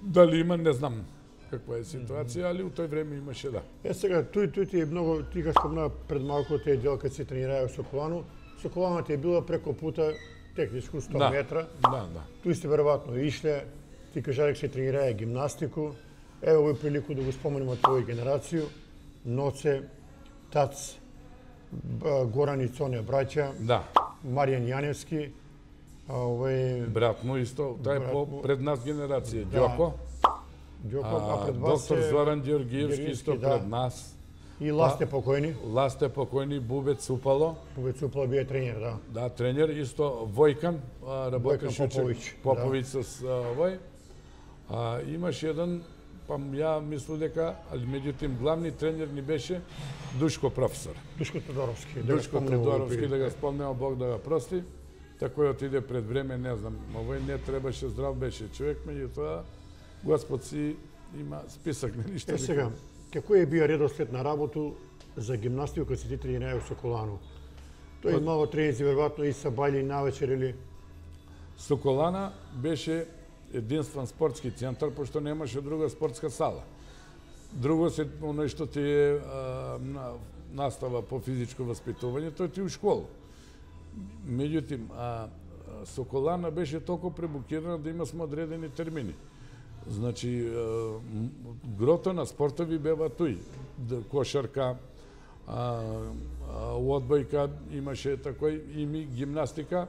Speaker 2: дали има, не знам каква е ситуација, али у тој време имаше, да.
Speaker 1: Е сега, тој тој ти е многу, ти га спомна пред малку тој дел кога се тренираја во Соколану. Соколана ти е била преко пута техничку сто
Speaker 2: Да.
Speaker 1: метра.
Speaker 2: Да, да.
Speaker 1: Тој сте веројатно ишле, ти кажа дека се тренираја гимнастику. Ево овој прилику да го споменеме твоја генерација. Ноце, Тац, Б- Горан и Цоне браќа,
Speaker 2: Да.
Speaker 1: Маријан Јаневски, а, овој
Speaker 2: Брат му исто, тај е
Speaker 1: Брат
Speaker 2: по
Speaker 1: му.
Speaker 2: пред нас генерација,
Speaker 1: Да.
Speaker 2: Ѓоко,
Speaker 1: Ѓоко, а
Speaker 2: а,
Speaker 1: пред вас
Speaker 2: доктор
Speaker 1: е
Speaker 2: Зоран Ѓоргиевски исто
Speaker 1: да.
Speaker 2: пред нас,
Speaker 1: и Ласте покојни.
Speaker 2: Ласте покојни, Бубец Супало,
Speaker 1: Повецупла бие тренер, да.
Speaker 2: да, тренер, исто Војкан, а, работеше
Speaker 1: Војкан Поповиќ,
Speaker 2: Поповиќ с а, овој. А, имаш еден, па ја мислам дека, али меѓутим главни тренер ни беше Душко професор.
Speaker 1: Душко Тодоровски. Да го
Speaker 2: Душко
Speaker 1: спомнеме овој
Speaker 2: Тодоровски,
Speaker 1: прилик.
Speaker 2: да го спомнеме, Бог да го прости. Такој отиде пред време, не знам, овој не требаше, здрав беше човек, меѓутоа Господ си има список на ништо.
Speaker 1: Е сега, како е бија редослед на работу за гимнастика кога си ти тренирај во Соколану? Тој имало тренинзи веројатно и са бајли навечер или
Speaker 2: Соколана беше единствен спортски центар, пошто немаше друга спортска сала. Друго се оној што ти е а, на, настава по физичко воспитување, тој ти е у школа. Меѓутим, а, а, Соколана беше толку пребукирана да има смо одредени термини. Значи, а, м- грото на спортови бева тој. Д- Кошарка, а, а, у одбојка имаше такој и ми гимнастика,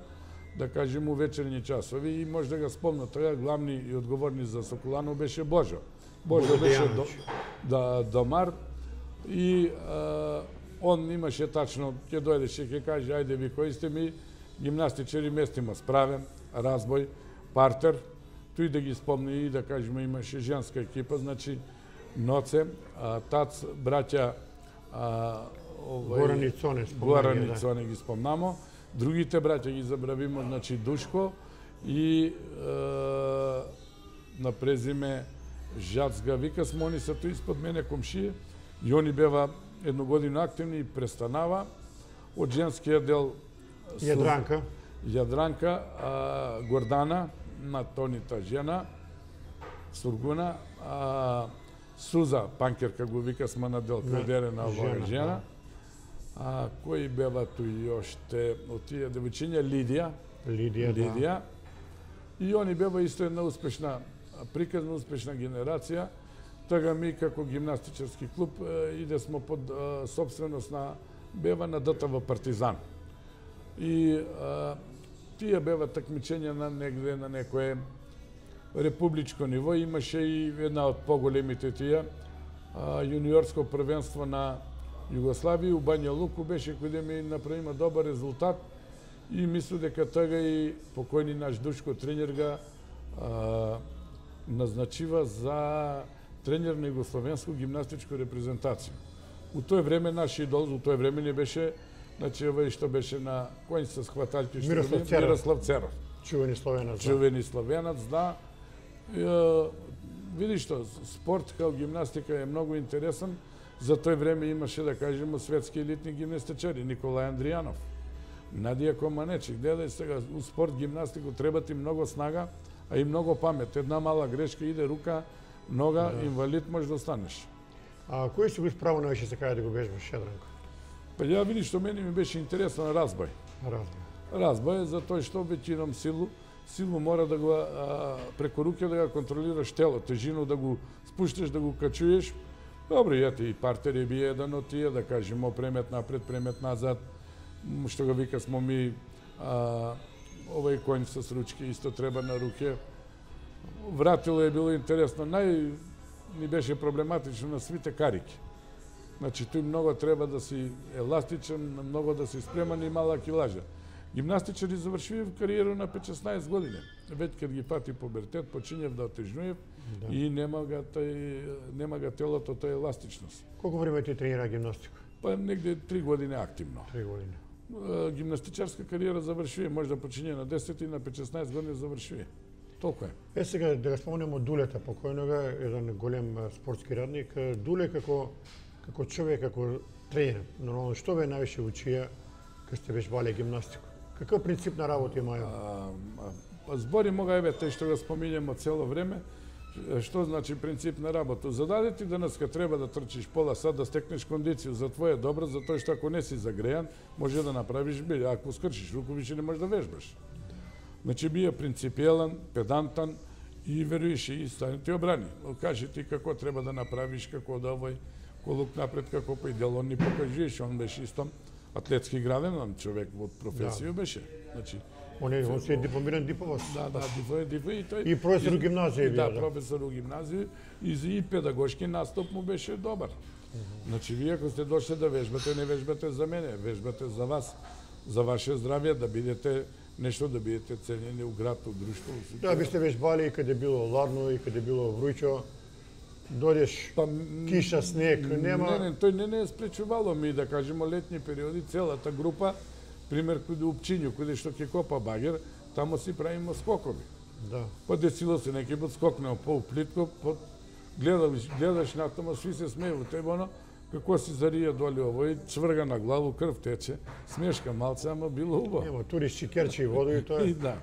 Speaker 2: да кажем у вечерни часови, и може да го спомна тоа, главни и одговорни за Соколану беше Божо. Божо
Speaker 1: Божо
Speaker 2: беше до,
Speaker 1: Дејановиќ.
Speaker 2: да, домар и а, он имаше тачно, ќе дојдеше, ќе каже, ајде ви кои сте ми гимнастичари, местимо справен, разбој, партер, тој да ги спомни и да кажеме имаше женска екипа, значи Ноце, а, Тац, браќа а, овој,
Speaker 1: Горан и Цоне спомнање,
Speaker 2: Горан и
Speaker 1: да.
Speaker 2: Цоне ги спомнамо, другите браќа ги забравимо, значи Душко и е, на презиме Жацга, вика смо, они се тој испод мене комшија, и они бева едно година активни и престанава од женскиот дел Су-
Speaker 1: Јадранка.
Speaker 2: Јадранка, а, Гордана, на тонита жена, Сургуна, а, Суза, панкерка го вика сма на дел кредерена оваа
Speaker 1: жена,
Speaker 2: жена. А, кои бева туи оште од тие девојчиња? Лидија,
Speaker 1: Лидија, да.
Speaker 2: Лидија. И они бева исто една успешна, приказна успешна генерација. Тога ми како гимнастичарски клуб е, иде смо под е, собственост на бева на ДТВ Партизан. И е, тие бева такмичења на негде на некое републичко ниво. Имаше и една од поголемите тие, а, јуниорско првенство на Југославија, у Бања Луку беше кој да ми направима добар резултат и мислам дека тога и покојни наш Душко тренер га а, назначива за тренер на југословенско гимнастичко репрезентација. У тој време наш идол, у тој време не беше, значи овој што беше на кој се схваталки, што
Speaker 1: Мирослав
Speaker 2: го-
Speaker 1: Церов.
Speaker 2: Мирослав Церов.
Speaker 1: Чувени словенец. да.
Speaker 2: Чувени славенец, да. Е, види што, спорт као гимнастика е многу интересен. За тој време имаше, да кажеме, светски елитни гимнастичари, Николај Андријанов. Надија Команечи, гледај сега, у спорт, гимнастику треба ти многу снага, а и многу памет. Една мала грешка иде рука, нога, да. Инвалид може да станеш.
Speaker 1: А кој си го справо највише се кај да го бежбаш, Јадранко?
Speaker 2: Па ја види што мене ми беше интересно на разбој.
Speaker 1: Разбој.
Speaker 2: Разбој за тој што веќином силу, силу мора да го а, преку руке да го контролираш тело, тежину да го спушташ, да го качуеш. Добро, јате и партери би еден од тие, да кажемо премет напред, премет назад, што го вика смо ми а, овој конј со ручки исто треба на руке. Вратило е било интересно, нај ни беше проблематично на свите карики. Значи, тој многу треба да си еластичен, многу да си спреман и мала килажа. Гимнастичари завршив кариера на пет-шеснаесет години. Веќе кога ги пати пубертет, почињев да отежнуев да. И нема га тој нема га телото тој еластичност.
Speaker 1: Колку време ти тренира гимнастика?
Speaker 2: Па негде три години активно.
Speaker 1: Три години.
Speaker 2: Гимнастичарска кариера завршив, може да почиње на десет и на пет-шеснаесет години завршив. Толку е.
Speaker 1: Е сега да го спомнеме Дулета покојнога, еден голем спортски радник. Дуле како како човек, како тренер, нормално што ве највише учија кога сте вежбале гимнастика? Каков принцип на работа имаја?
Speaker 2: Па збори мога еве тој што го споминјаме цело време. Што значи принцип на работа? Зададе ти денеска треба да трчиш пола сат да стекнеш кондиција за твое добро, за тоа што ако не си загрејан, може да направиш били, ако скршиш руку више не можеш да вежбаш. Значи бија принципиелан, педантан и веруеш и стане ти обрани. Кажи ти како треба да направиш, како да овој колук напред, како по идеал, он ни покажуваш, он беше исто атлетски граден, човек од професија да. Беше. Значи,
Speaker 1: он е, он се е дипломиран дипломат.
Speaker 2: Да, да, дипломиран дипломат и тој.
Speaker 1: И професор у гимназија
Speaker 2: бија. Да, да, професор у гимназија и за и педагошки настап му беше добар. Uh -huh. Значи, вие ако сте дошли да вежбате, не вежбате за мене, вежбате за вас, за ваше здравје, да бидете нешто, да бидете ценени у град, у друштво.
Speaker 1: Да, ви сте вежбали и каде било ладно, и каде било вруќо. Дојдеш, па, киша, снег, нема...
Speaker 2: Не, не, тој не не е спречувало ми, да кажемо, летни периоди, целата група, пример, каде у Пчињу, каде што ќе копа багер, тамо си правиме скокови.
Speaker 1: Да.
Speaker 2: Па десило се неки пат скокнео по-плитко, по гледаш, гледаш натаму, сви се смеју, тебано, како си зарија доли овој, цврга на главу, крв тече, смешка малце, ама било убаво.
Speaker 1: Нема, туристи керчи воду и тоа.
Speaker 2: И да.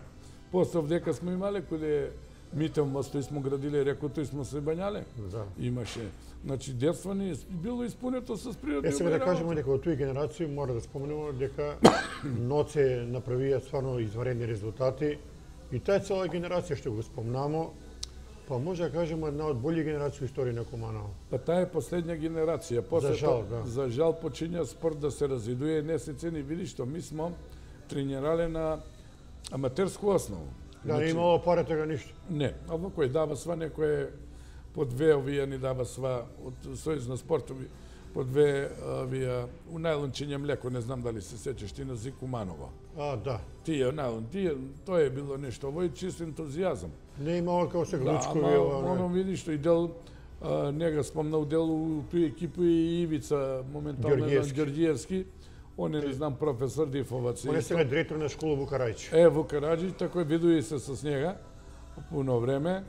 Speaker 2: После дека сме имале, каде Мител мостој смо градиле, рекото и смо се бањале.
Speaker 1: Да.
Speaker 2: Имаше. Значи, детство ни било исполнето со природни.
Speaker 1: Е, сега да кажеме дека од тој генерација мора да споменеме дека Ноце направија стварно изваредни резултати и таа цела генерација што го спомнамо, па може да кажеме една од бољи генерации историја на Куманово.
Speaker 2: Па таа е последна генерација. После
Speaker 1: за жал, да.
Speaker 2: За жал почиња спорт да се развидува, не се цени, види што ми смо тренирале на аматерску основа.
Speaker 1: Да, не имало пари тега ништо.
Speaker 2: Не, ова кој дава сва некој по две овие ни дава сва од Сојуз на спортови, по две овие у најлончиње млеко, не знам дали се сеќаш ти на Зик Куманово.
Speaker 1: А, да.
Speaker 2: Тие најлон, тие, тоа е било нешто, овој чист ентузијазам.
Speaker 1: Не имало како се глучкови
Speaker 2: да,
Speaker 1: ова.
Speaker 2: Да, оно види што и дел нега спомнал дел у тој екипу и Ивица моментално Ѓорѓиевски. Он е, не знам, професор Дифовац.
Speaker 1: Он е сега директор на школа Вукарајчи.
Speaker 2: Е, Вукарајчи, тако видуи се со njega пуно време.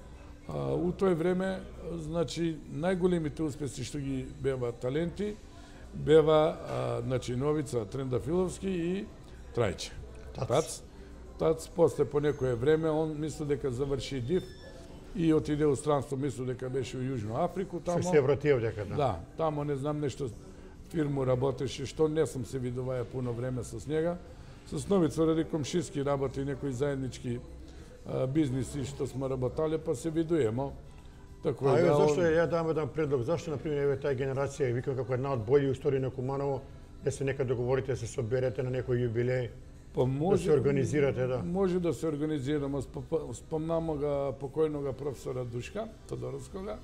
Speaker 2: А, у тој време, значи, најголемите успеси што ги бева таленти, бева, а, значи, Новица Трендафиловски и Трајче.
Speaker 1: Тац.
Speaker 2: Тац. Тац, после по некое време, он мисли дека заврши Див и отиде у странство, мисли дека беше у Јужна Африку. Тамо,
Speaker 1: се врати овдека, да.
Speaker 2: Да, тамо не знам нешто фирму работеше, што не сум се видуваја пуно време со njega. Со Новица ради комшиски работи некои заеднички а, бизниси што сме работале, па се видуемо.
Speaker 1: Тако а еве зашто ја дам еден предлог, зашто на пример еве таа генерација, викам како една од бољи истории на Куманово, да се нека договорите, се соберете на некој јубилеј,
Speaker 2: па може,
Speaker 1: да се организирате, да.
Speaker 2: Може да се организираме, спомнамо га покојнога професора Душка Тодоровскога.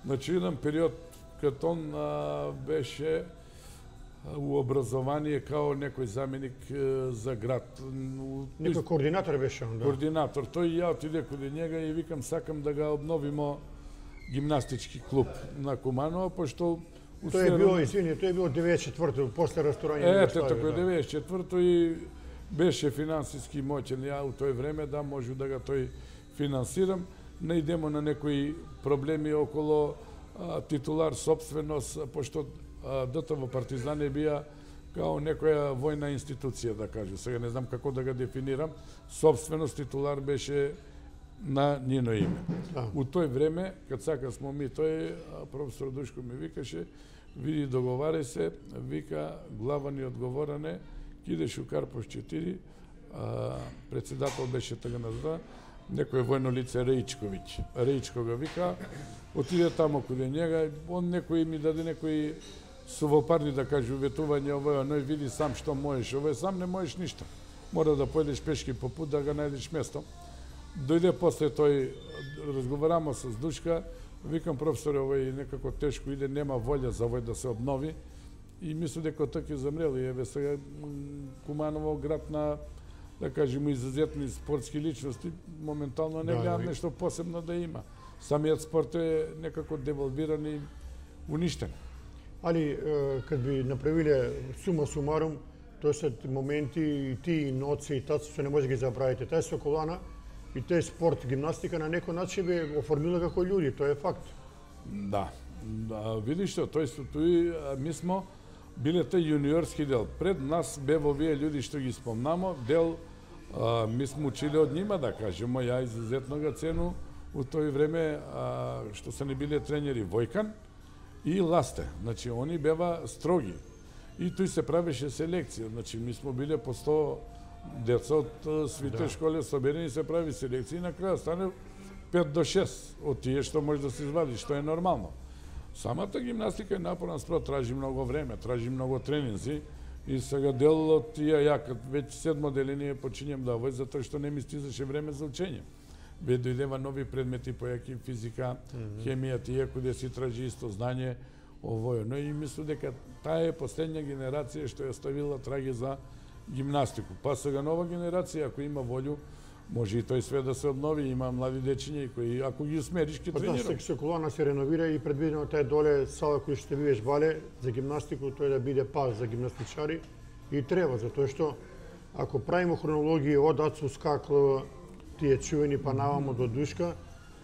Speaker 2: Значи еден период кога он а, беше у образование као некој заменик за град.
Speaker 1: Некој координатор беше он, да.
Speaker 2: Координатор. Тој и ја отиде каде njega и викам сакам да га обновимо гимнастички клуб на Куманово, пошто
Speaker 1: тој е било, извини, тој е било деветдесет и четврто после расторање на
Speaker 2: Ете, тако е деветдесет и четврто и беше финансиски моќен. Ја у тој време да можу да га тој финансирам. Не идемо на некои проблеми около а, титулар собственост, пошто ДТВ Партизани бија као некоја војна институција, да кажу. Сега не знам како да го дефинирам. Собственост титулар беше на нино име.
Speaker 1: Да.
Speaker 2: У тој време, кад сака смо ми, тој професор Душко ми викаше, види, договарај се, вика, глава ни одговоране, кидеш у Карпов четири, а, председател беше тага назва, некој војно лице Реичковиќ. Реичко го вика, отиде тамо каде njega, он некој ми даде некои сувопарни, да кажу, ветување, ово, но види сам што можеш, ово сам не можеш ништо. Мора да појдеш пешки по пут да го најдеш место. Дојде после тој, разговарамо с Душка, викам, професор, овој некако тешко иде, нема волја за овој да се обнови, и мислам дека тој ќе замрел, и еве сега Куманово, град на, да кажеме, изазетни спортски личности, моментално не гледам нешто посебно да има. Самиот спорт е некако девалвиран и уништен.
Speaker 1: Али, кад би направиле сума сумарум, тоа се моменти и ти, и ноци, и таци, што не може да ги забравите. Тај Соколана и тај спорт, гимнастика, на некој начин бе оформила како луѓе, тоа е факт.
Speaker 2: Да, да, видиш што, тој тој ми смо биле тај јуниорски дел. Пред нас бе во вие луѓе што ги спомнамо, дел а, ми сме учили од нима, да кажемо, ја изузетно га цену у тој време а, што се не биле тренери Војкан и Ласте. Значи, они бева строги. И тој се правеше селекција. Значи, ми сме биле по сто деца од свите да. Школи соберени, се прави селекција и на крај стане пет до шест од тие што може да се извади, што е нормално. Самата гимнастика е напорна спорт, тражи многу време, тражи многу тренинзи, и сега дел од тие, ја кад веќе седмо деление почињам да овој, затоа што не ми стизаше време за учење. Ве дојдева нови предмети, појаки физика, mm -hmm. хемија, тие кои си тражи исто знање, овој. Но и мислам дека таа е последна генерација што ја оставила траги за гимнастику. Па сега нова генерација, ако има волју, може и тој све да се обнови, има млади дечиња кои, ако ги усмериш, ќе тренираат.
Speaker 1: Па да, Соколана се реновира и предвидено тај доле сала кој што биеш бале за гимнастику, тој да биде паз за гимнастичари и треба, затоа што ако правиме хронологија од Ацу Скаклова, тие чувени па навамо до Душка,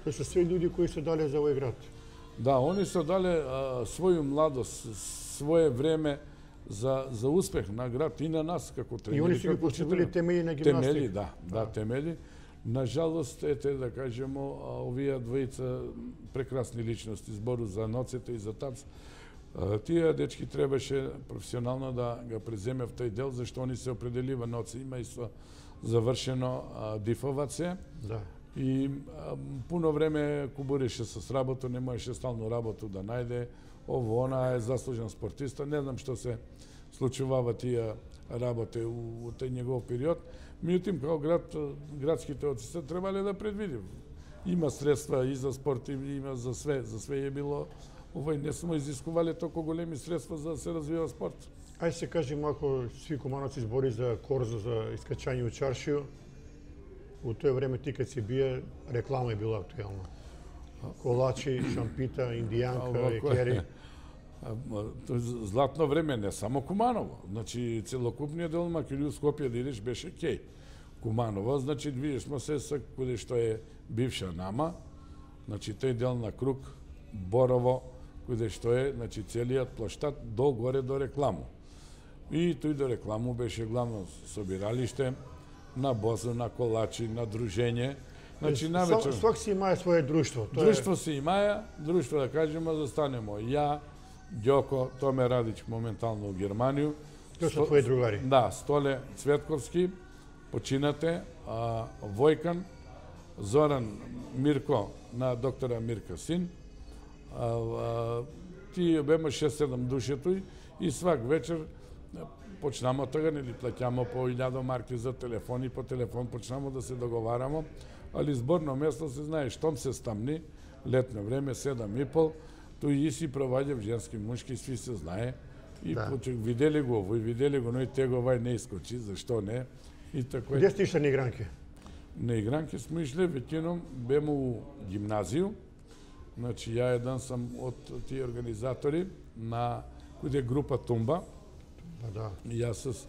Speaker 1: тоа се све луѓе кои се дале за овој град.
Speaker 2: Да, они се дале а, своју младост, свое време за за успех на град и на нас како тренери.
Speaker 1: И они се ги поставили темели на гимнастика.
Speaker 2: Темели, да, да, да, темели. Нажалост, ете да кажемо, овие двојца прекрасни личности, збору за ноците и за тац. Тие дечки требаше професионално да го преземе в тој дел, зашто они се определива ноци, има и со завршено дифоваце.
Speaker 1: Да.
Speaker 2: И а, пуно време кубуреше с работа, не можеше стално работу да најде. Ово, она е заслужен спортиста. Не знам што се случувава тие работе у, у тој негов период. Меѓутоа, како град, градските оци се требале да предвидим. Има средства и за спорт, и има за све. За све е било. Овој не смо изискувале толку големи средства за да се развива спорт.
Speaker 1: Ајде се кажи малку, сви Кумановци збори за корзо, за искачање у чаршију. У тој време ти кад си бие, реклама е била актуелна. Колачи, шампита, индијанка, екери.
Speaker 2: Златно време, не само Куманово. Значи, целокупниот дел Македонија, Скопје да идеш беше кеј. Куманово, значи, видиш смо се са куде што е бивша Нама, значи, тој дел на Круг, Борово, куде што е, значи, целиот плаштат до горе до рекламу. И тој до рекламу беше главно собиралиште, на боза, на колачи, на дружење. Значи, навечер...
Speaker 1: Свак си имае своје друштво.
Speaker 2: Друштво си имае, друштво да кажемо, застанемо ја, Ѓоко, Томе Радич моментално у Германiju.
Speaker 1: Тоа се твои другари?
Speaker 2: Да, Столе Цветковски, починате, а, Војкан, Зоран Мирко на доктора Мирка син. А, а, ти бема шест-седам души тој и свак вечер почнамо тога, нели плаќамо по илјада марки за телефон и по телефон почнамо да се договарамо, али зборно место се знае, штом се стамни, летно време, седам и пол, тој и си проваѓав женски, мушки, сви се знае. И да. Почек, видели го овој, видели го, но и теговај не искочи, зашто не? И тако е.
Speaker 1: Где сте ишле на игранки?
Speaker 2: На игранки сме ишле, веќином бемо у гимназију. Значи, ја еден сам од тие организатори на кој е група Тумба.
Speaker 1: Па да.
Speaker 2: Јас с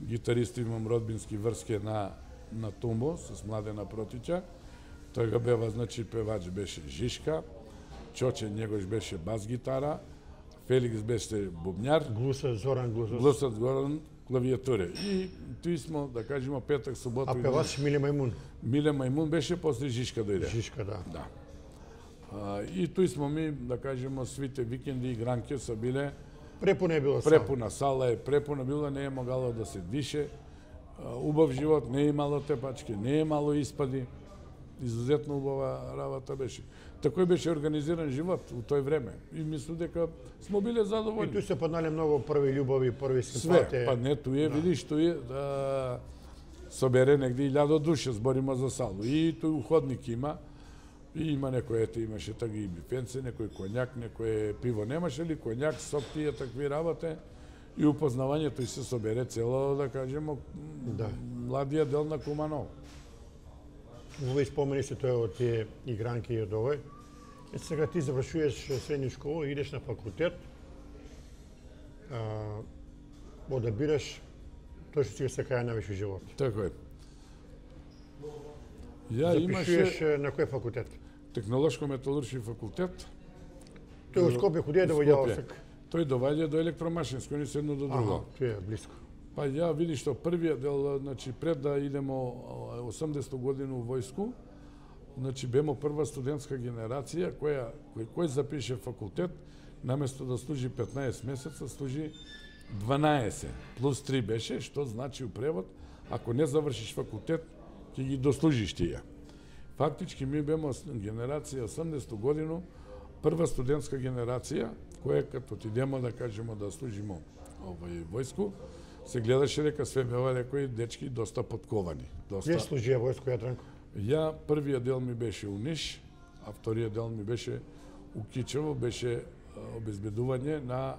Speaker 2: гитаристи имам родбински врски на на Тумбо, с Младена Протича. Тој го бева, значи, певач беше Жишка, Чоче негош беше бас гитара, Феликс беше бубњар,
Speaker 1: Глуса Зоран Глусос.
Speaker 2: Глусат Горан клавиатуре. И тој смо, да кажеме, петак, субота.
Speaker 1: А певач Миле Мајмун.
Speaker 2: Миле Мајмун беше после Жишка дојде.
Speaker 1: Жишка, да.
Speaker 2: Да. А, и тој смо ми, да кажеме, свите викенди и гранке са биле.
Speaker 1: Препуна е било сала.
Speaker 2: Препуна сала е, препуна била, не е могало да се дише. А, убав живот, не е имало тепачки, не е имало испади. Изузетно убава работа беше. Такој беше организиран живот у тој време. И мислам дека смо биле
Speaker 1: И
Speaker 2: задоволни.
Speaker 1: тој се паднале многу први љубови, први
Speaker 2: Све,
Speaker 1: симпатии.
Speaker 2: па не туе, да. Видиш, туе да собере негде илјада души, збориме за салу. И тој уходник има, и има некој, ете, имаше таги и бифенце, некој конјак, некој пиво немаше ли, конјак, сок тие такви работе. И упознавањето и се собере цело, да кажемо,
Speaker 1: Да.
Speaker 2: младија дел на Куманово.
Speaker 1: Овој спомени се тој од тие игранки и од овој. Е, сега ти завршуваш средна школа, идеш на факултет, а, одабираш тој што си се каја највиш во живот.
Speaker 2: Така е. Ја
Speaker 1: Запишуваш
Speaker 2: имаше
Speaker 1: на кој факултет?
Speaker 2: технолошко-металуршки факултет.
Speaker 1: Тој од Скопје куди е да доаѓа
Speaker 2: Скопје.
Speaker 1: осек?
Speaker 2: Тој доваѓа до електромашинско, ни се едно до друго.
Speaker 1: Ага, тој е блиско.
Speaker 2: Па ја видиш што првиот дел, значи пред да идемо осумдесета година во војску, значи бемо прва студентска генерација која кој, кој запише факултет, наместо да служи петнаесет месеца, служи дванаесет плюс три беше, што значи у превод, ако не завршиш факултет, ќе ги дослужиш тие. Фактички ми бемо генерација осумдесета година, прва студентска генерација, која като отидемо да кажемо да служимо овој војску, се гледаше дека све беа некои дечки доста подковани. Доста.
Speaker 1: Где служија војско Јадранко?
Speaker 2: Ја првиот дел ми беше у Ниш, а вториот дел ми беше у Кичево, беше а, обезбедување на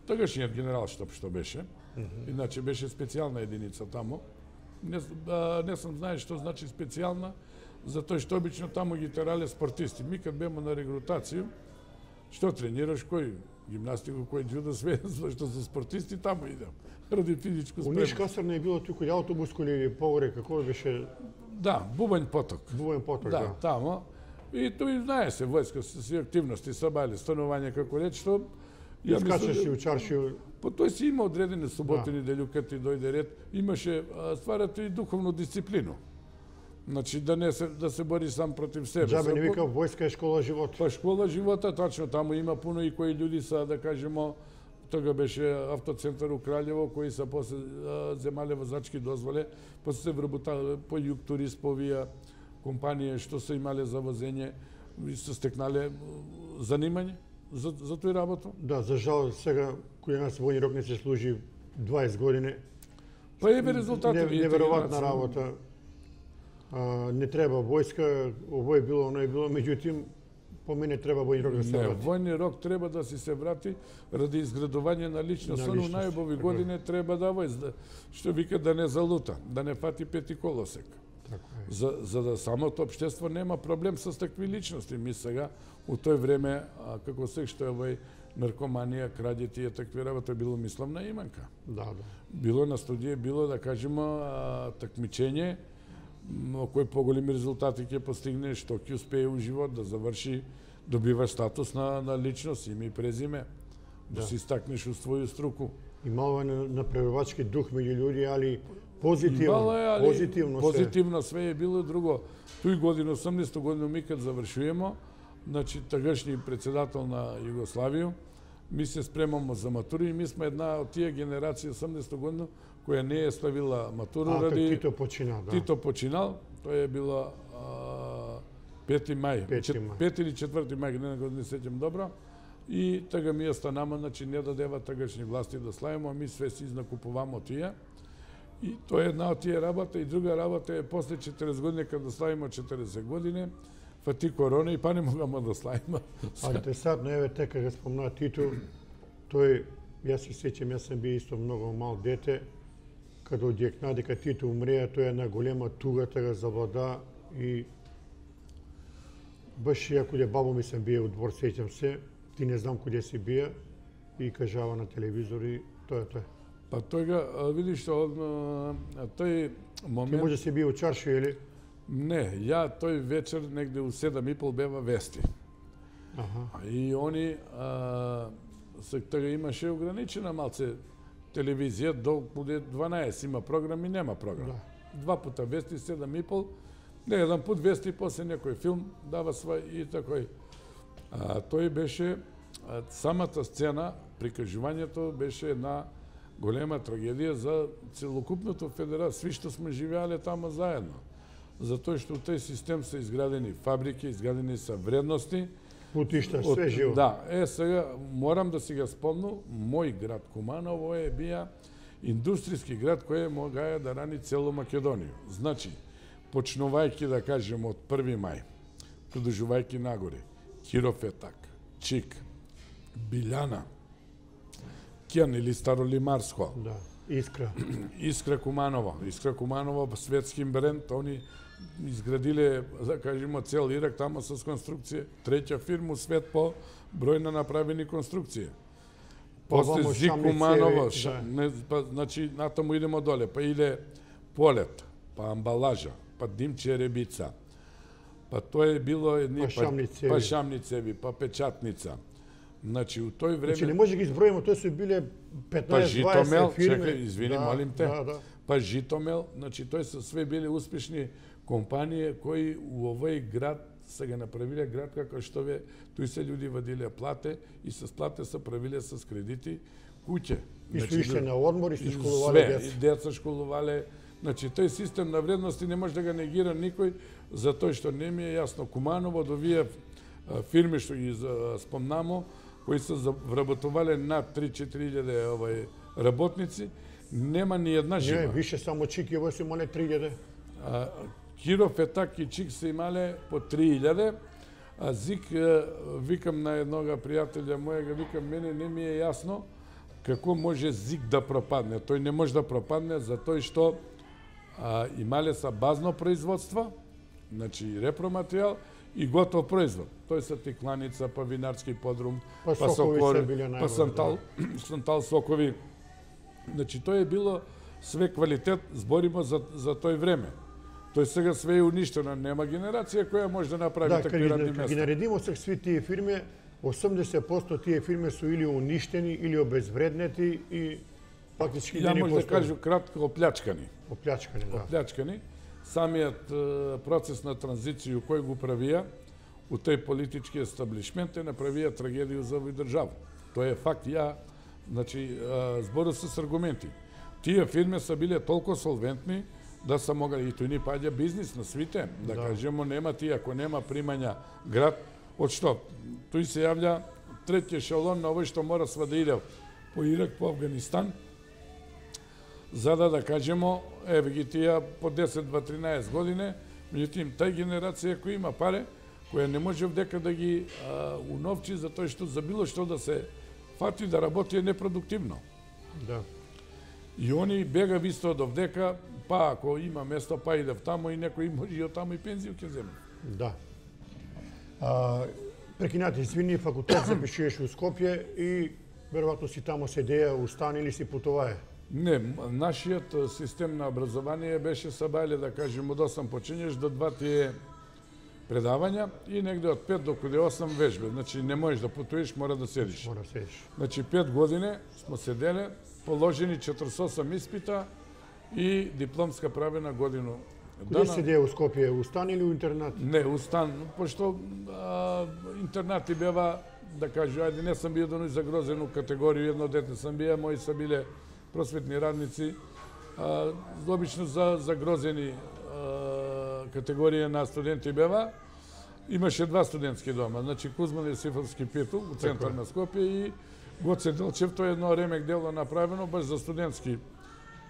Speaker 2: тогашниот генералштаб што беше. Mm -hmm. Иначе беше специјална единица таму. Не, а, не сам знае што значи специјална, затоа што обично таму ги терале спортисти. Ми кад бемо на регрутација, што тренираш, кој гимнастику, кој џудо, све, што се спортисти, таму идем. Ради физичко
Speaker 1: У
Speaker 2: спремност.
Speaker 1: Ниш касарна е било туку автобуско или погоре, како беше
Speaker 2: Да, Бубањ поток.
Speaker 1: Бубањ поток,
Speaker 2: Да,
Speaker 1: да.
Speaker 2: тамо. И тој знае се, војска се си активности, сабајле, станување, како реч, што... ја
Speaker 1: Скачаш
Speaker 2: мислам,
Speaker 1: си у чаршију.
Speaker 2: По тој си има одредени суботи, неделју, кад ти дојде ред, имаше, а, стварате и духовну дисциплину. Значи, да не се, да се бори сам против себе.
Speaker 1: Джабе не
Speaker 2: Се-
Speaker 1: вика војска е школа живот.
Speaker 2: Па школа живота, тачно, таму има пуно и кои луѓе са, да кажемо, тога беше автоцентар у Краљево, кои са после а, земале возачки дозволе, после се вработале по југ турист, по овие компанија што се имале за возење и се стекнале м, занимање за, за тој работа.
Speaker 1: Да, за жал сега кој нас војни рок не се служи дваесет години.
Speaker 2: Па еве резултати.
Speaker 1: Не,
Speaker 2: видите,
Speaker 1: неверојатна
Speaker 2: генерација.
Speaker 1: работа. А, не треба војска, ово е било, оно е било, меѓутоа по мене треба војни рок да се
Speaker 2: Не,
Speaker 1: врати.
Speaker 2: војни рок треба да си се врати ради изградување на личност.
Speaker 1: На
Speaker 2: Оно
Speaker 1: личност,
Speaker 2: најубави
Speaker 1: така е.
Speaker 2: години треба да војз, да, што вика да не залута, да не фати пети колосек.
Speaker 1: Така е.
Speaker 2: За, за да самото општество нема проблем со такви личности. Ми сега, у тој време, а, како се што е овој наркоманија, краѓе тие такви работи, било мисловна иманка.
Speaker 1: Да, да.
Speaker 2: Било на студија, било, да кажемо, а, такмичење, м, кој поголеми резултати ќе постигне, што ќе успее у живот да заврши, добива статус на, на личност, име и презиме, да,
Speaker 1: Да.
Speaker 2: се истакнеш у своју струку.
Speaker 1: Имало на направувачки дух меѓу луѓе, али позитивно,
Speaker 2: Имало е, али
Speaker 1: позитивно се.
Speaker 2: позитивно све е било друго. Тој година, осумдесета година, ми кад завршуваме, значи тагашни председател на Југославија, ми се спремамо за матура и ми сме една од тие генерација осумдесета година која не е ставила матура
Speaker 1: А,
Speaker 2: ради
Speaker 1: Тито почина, да.
Speaker 2: Тито починал, тоа е било а, пети мај,
Speaker 1: Пети
Speaker 2: чет-
Speaker 1: мај.
Speaker 2: пети или четврти мај, не го не сеќам добро. И тага ми останама, значи не дадева тагашни власти да славимо, а ми све си изнакупувамо тие. И тоа е една од тие работа. И друга работа е после четиресет години, кога славимо четиресет години, фати корона и па не могамо да славимо.
Speaker 1: А интересантно, еве така го спомна Тито, тој, јас се сеќам, јас сам бил исто многу мал дете, кога одјекна дека Тито умреа, тоа е една голема туга тага завлада и баш ја кога бабо ми сам бија у двор, сеќам се, ти не знам куде си бија и кажава на телевизор и тоа е тоа.
Speaker 2: Па тога, а, видиш што, а, тој
Speaker 1: Ти
Speaker 2: момент...
Speaker 1: може си бија у чарши или?
Speaker 2: Не, ја тој вечер негде у седам и пол бева вести.
Speaker 1: Аха.
Speaker 2: И они а, се тога имаше ограничена малце телевизија до дванаесет има програми, нема програм.
Speaker 1: Да.
Speaker 2: Два пута вести, седам и пол, не еден пут вести, после некој филм дава свој и такој. А, тој беше а, самата сцена, прикажувањето беше една голема трагедија за целокупното федерација, сви што сме живеале тамо заедно. Затоа што у тој систем се изградени фабрики, изградени се вредности,
Speaker 1: путишта, све живо.
Speaker 2: Да, е сега морам да си го спомнам, мој град Куманово е бија индустријски град кој могаја да рани цело Македонија. Значи, почнувајќи да кажем од први мај, продолжувајќи нагоре, Кирофетак, Чик, Билјана, Кјан или Старолимарско,
Speaker 1: Да, Искра.
Speaker 2: Искра Куманово, Искра Куманово светски бренд, они изградиле, да кажемо, цел Ирак тамо со конструкција, треќа фирма у свет по број на направени конструкции. После
Speaker 1: Овамо
Speaker 2: Зик
Speaker 1: Шамни
Speaker 2: Куманово,
Speaker 1: цеви,
Speaker 2: ша,
Speaker 1: да.
Speaker 2: не, па, значи натаму идемо доле, па иде Полет, па Амбалажа, па Димче Ребица, па тоа е било едни,
Speaker 1: Па Шамни цеви.
Speaker 2: па Шамни цеви, па Печатница. Значи, у тој време...
Speaker 1: Значи не може да ги изброиме, тоа се биле
Speaker 2: Па
Speaker 1: петнаесет
Speaker 2: Житомел,
Speaker 1: дваесет фирми.
Speaker 2: чекај, извини,
Speaker 1: Да,
Speaker 2: молим те.
Speaker 1: Да, да.
Speaker 2: Па Житомел, значи тој се све биле успешни компании кои у овој град се го направиле град како што ве, тој се луѓе вадиле плате и со плате се правиле со кредити куќе.
Speaker 1: И што ишле на одмор, и што школувале
Speaker 2: све,
Speaker 1: деца.
Speaker 2: и деца школувале. Значи, тој систем на вредности не може да го негира никој, затоа што не ми е јасно. Куманово од овие а, фирми што ги а, спомнамо, кои се вработувале над три-четири илјади овај работници, нема ни една
Speaker 1: Не,
Speaker 2: жива.
Speaker 1: више само Чики, ово се имале три илјади.
Speaker 2: А, Кирофетак и Чик се имале по три илјади, а Зик, а, викам на еднога пријателја мојега, викам, мене не ми е јасно како може Зик да пропадне. Тој не може да пропадне затоа што а, имале са базно производство, значи репроматеријал и готов производ. Тој се тикланица, па винарски подрум,
Speaker 1: Па сокови се биле најголеми,
Speaker 2: па сантал, сантал сокови. Значи, тоа е било све квалитет, зборимо за, за тој време. Тој сега све е уништено, нема генерација која може да направи
Speaker 1: Да,
Speaker 2: такви
Speaker 1: кога
Speaker 2: радни
Speaker 1: ги, кога ги
Speaker 2: места.
Speaker 1: наредимо се сви тие фирми, осемдесет проценти тие фирми су или уништени, или обезвреднети и фактички
Speaker 2: Ја
Speaker 1: не
Speaker 2: може да
Speaker 1: постои.
Speaker 2: кажу кратко оплячкани.
Speaker 1: Оплячкани, да.
Speaker 2: Оплячкани. Самиот е, процес на транзиција кој го правија у тој политички естаблишмент е направија трагедија за овој држава. Тоа е факт. Ја, значи, е, збору се с аргументи. Тие фирми се биле толку солвентни да се могли, и тој ни паѓа бизнис на свите, да,
Speaker 1: Да.
Speaker 2: кажемо, нема тие, ако нема примања град, од што? Тој се јавља трети ешелон на овој што мора сва да иде по Ирак, по Афганистан, за да да кажемо, еве ги тие по десет, дваесет, тринаесет години, меѓутоа тај генерација која има паре, која не може вдека да ги а, уновчи за тоа што за било што да се фати да работи е непродуктивно.
Speaker 1: Да.
Speaker 2: И они бега висто до вдека, па ако има место, па идев тамо и некој може и од тамо и пензију ќе земе.
Speaker 1: Да. А, прекинати, извини, факултет запишуваш у Скопје и веројатно си тамо седеја, устани или си путувае.
Speaker 2: Не, м- нашиот е, систем на образование беше сабајле, да кажем, од осам почињеш до два тие предавања и негде од пет до каде осам вежбе. Значи не можеш да путуваш, мора да седиш.
Speaker 1: Мора седиш.
Speaker 2: Значи пет години смо седеле, положени четиридесет и осам испита и дипломска правена годину.
Speaker 1: Каде седеја у Скопје, устани или у интернат?
Speaker 2: Не, устан, пошто а, интернати бева, да кажу, ајде, не сам бил да загрозен у категорија, едно дете сам бија, мои са биле просветни радници, а, обично за загрозени а, категорија на студенти бева. Имаше два студентски дома, значи Кузман Јосифовски Пиртул, у центар на Скопје и Гоце Делчев, тоа е едно ремек дело направено баш за студентски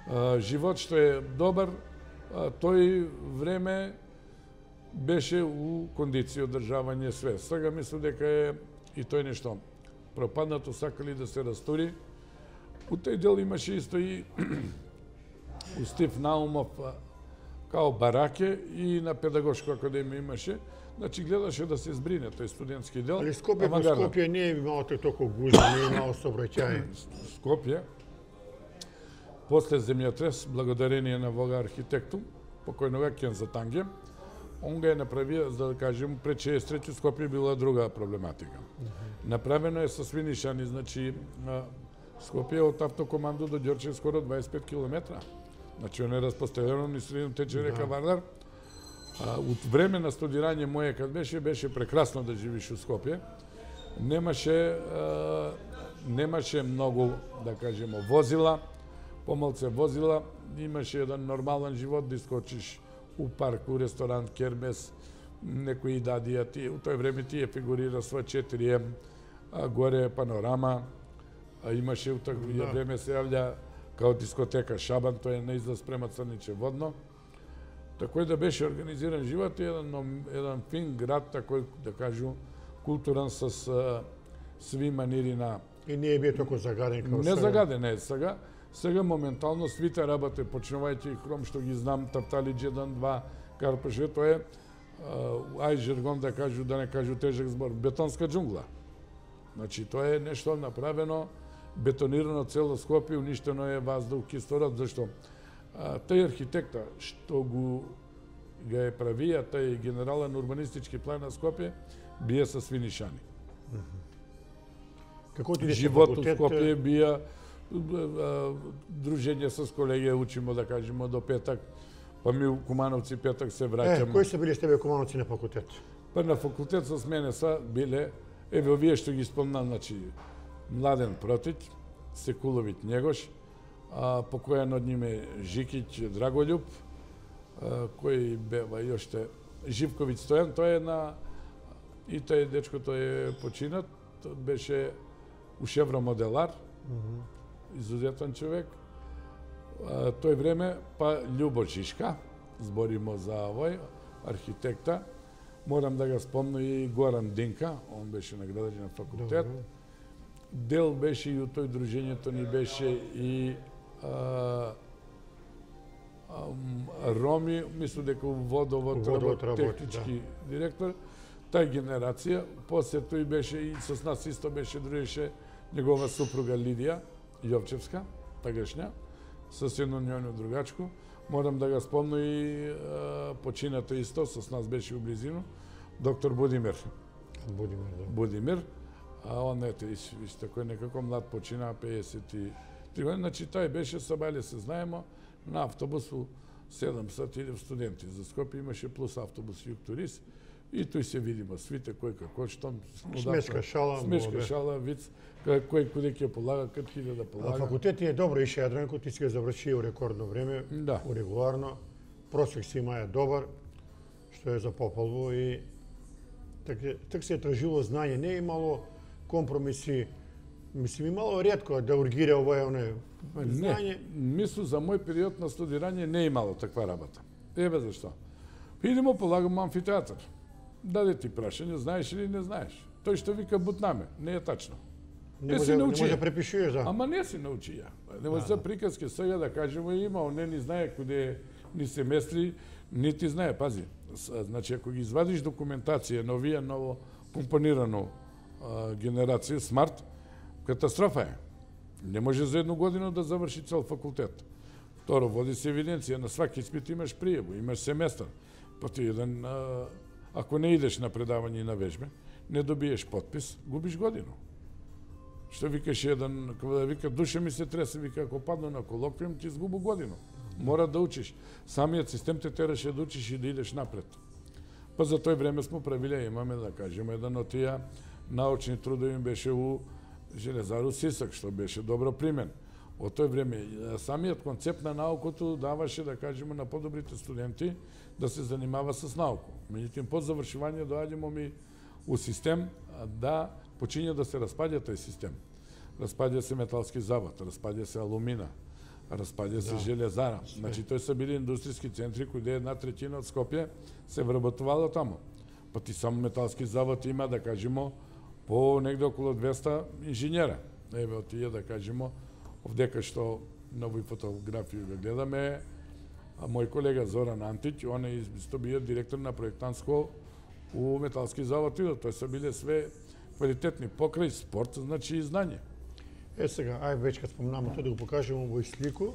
Speaker 2: а, живот, што е добар. А, тој време беше у кондиција одржавање све. Сега мислам дека е и тој нешто пропаднато, сакали да се растури. У тој дел имаше исто и у Стив Наумов а, као бараке и на педагошка академија имаше. Значи гледаше да се збрине тој студентски дел.
Speaker 1: Али Скопје, по
Speaker 2: авангарда.
Speaker 1: Скопје не е имало толку гузно, не е имало сообраќај.
Speaker 2: Скопје, после земјотрес, благодарение на Вога архитекту, покојнога Кенза Танге, он го е направил, за да кажем, пред шеесет трети Скопје била друга проблематика. Uh -huh. Направено е со свинишани, значи Скопје од автокоманду до Ѓорче скоро дваесет и пет километра. Значи, он е разпоставено ни средно тече река Вардар. А, од време на студирање моје, кад беше, беше прекрасно да живиш у Скопје. Немаше, а, немаше многу, да кажемо, возила, помалце возила, имаше еден нормален живот, да искочиш у парк, у ресторант, кермес, некои дадија, тие, у тој време тие фигурира сва четири ем, а, горе панорама, а имаше у тој да. време се јавља као дискотека Шабан, тој е на излаз према Црниче водно. Такој да беше организиран живот, еден, еден фин град, такој, да кажу, културан с а, сви манири на...
Speaker 1: И не е бие толку загаден као
Speaker 2: сега? Не загаден е сега. Сега моментално свите работе, почнувајќи хром што ги знам, Тапталиџ еден, два, Карпеше, тоа е, ај жаргон да кажу, да не кажу тежок збор, бетонска џунгла. Значи, тоа е нешто направено, бетонирано цело Скопје, уништено е ваздух, кислород, зашто а, тај архитекта што го га е правија, тај генерален урбанистички план на Скопје, бие со свинишани.
Speaker 1: Mm -hmm. Како ти
Speaker 2: живот у Скопје бија дружење с колеги, учимо, да кажемо, до петак, па ми у Кумановци петак се враќаме.
Speaker 1: Е, кои се биле с тебе Кумановци на факултет?
Speaker 2: Па на факултет со мене са биле, еве овие што ги спомнам, значи, Младен Протиќ, Секуловиќ Njegош, а, покојан од ними Жикиќ Драголјуб, а, кој бева и оште Живковиќ Стојан, тој е на... И тој дечко тој е починат, беше ушевромоделар, mm -hmm. изузетен човек. А, тој време, па Љубо Жишка, зборимо за овој, архитекта, морам да го спомнам и Горан Динка, он беше награден на факултет. Добре. Дел беше и у тој дружењето ни беше и а, а, Роми, мислам дека водовод, водовод технички да. директор, тај генерација, после тој беше и со нас исто беше дружеше негова супруга Лидија Јовчевска, тагашња, со едно нјојно другачко. Морам да го спомнам и а, почината исто, со нас беше у близину, доктор Будимир.
Speaker 1: Будимир, да.
Speaker 2: Будимир. А он, ете, исто кој некако млад почина, пеесет и три години, значи тај беше, сабајле се знаемо, на автобусу седам сати идев студенти. За Скопје имаше плюс автобус Југ Турист, и тој се видимо, свите кој како, што...
Speaker 1: Смешка шала.
Speaker 2: Смешка шала, виц, кој куде ќе полага, кад хилјада да полага.
Speaker 1: А факултет е добро, ише Јадранко, ти си го заврши у рекордно време,
Speaker 2: да.
Speaker 1: урегуларно, просек си има е добар, што е за попалво и така, так се е тражило знање, не е имало компромиси, мислим, имало ретко да ургира овој оне знање.
Speaker 2: Не, мислу за мој период на студирање не имало таква работа. Еве зашто. Идемо полагамо амфитеатар. Даде ти прашање, знаеш или не знаеш. Тој што вика бутнаме, не е тачно.
Speaker 1: Не, не може, не може да препишуеш, да.
Speaker 2: Ама не си научи ја. Не може да, приказки сега да кажемо има, он не ни знае куде ни се местри, ни ти знае, пази. Значи, ако ги извадиш документација на овие ново компонирано генерација, смарт, катастрофа е. Не може за едну година да заврши цел факултет. Второ, води се евиденција, на сваки испит имаш пријаво, имаш семестар. Па ти еден, а, ако не идеш на предавање и на вежбе, не добиеш подпис, губиш годину. Што викаш еден, кога да вика, душа ми се тресе, вика, ако падна на колоквиум, ти изгубу годину. Мора да учиш. Самиот систем те тераше да учиш и да идеш напред. Па за тој време смо правиле, имаме, да кажеме, еден од тие научни трудови беше у Железару Сисак, што беше добро примен. Од тој време, самиот концепт на наукото даваше, да кажеме, на подобрите студенти да се занимава с науку. Меѓутоа, по завршување доаѓамо ми у систем да почиња да се распаѓа тој систем. Распаѓа се металски завод, распаѓа се алумина, распаѓа се да. железара. Значи, тој се били индустријски центри кои една третина од Скопје се вработувало таму. Па ти само металски завод има, да кажемо, по негде околу двеста инженера. Еве, од тие, да кажемо, овдека што на овој фотографија го гледаме, а мој колега Зоран Антиќ, он е исто бил директор на проектантско у металски завод и тој се биле све квалитетни покрај спорт, значи и знање.
Speaker 1: Е сега, ај веќе кад спомнаме тоа да го покажеме во слику.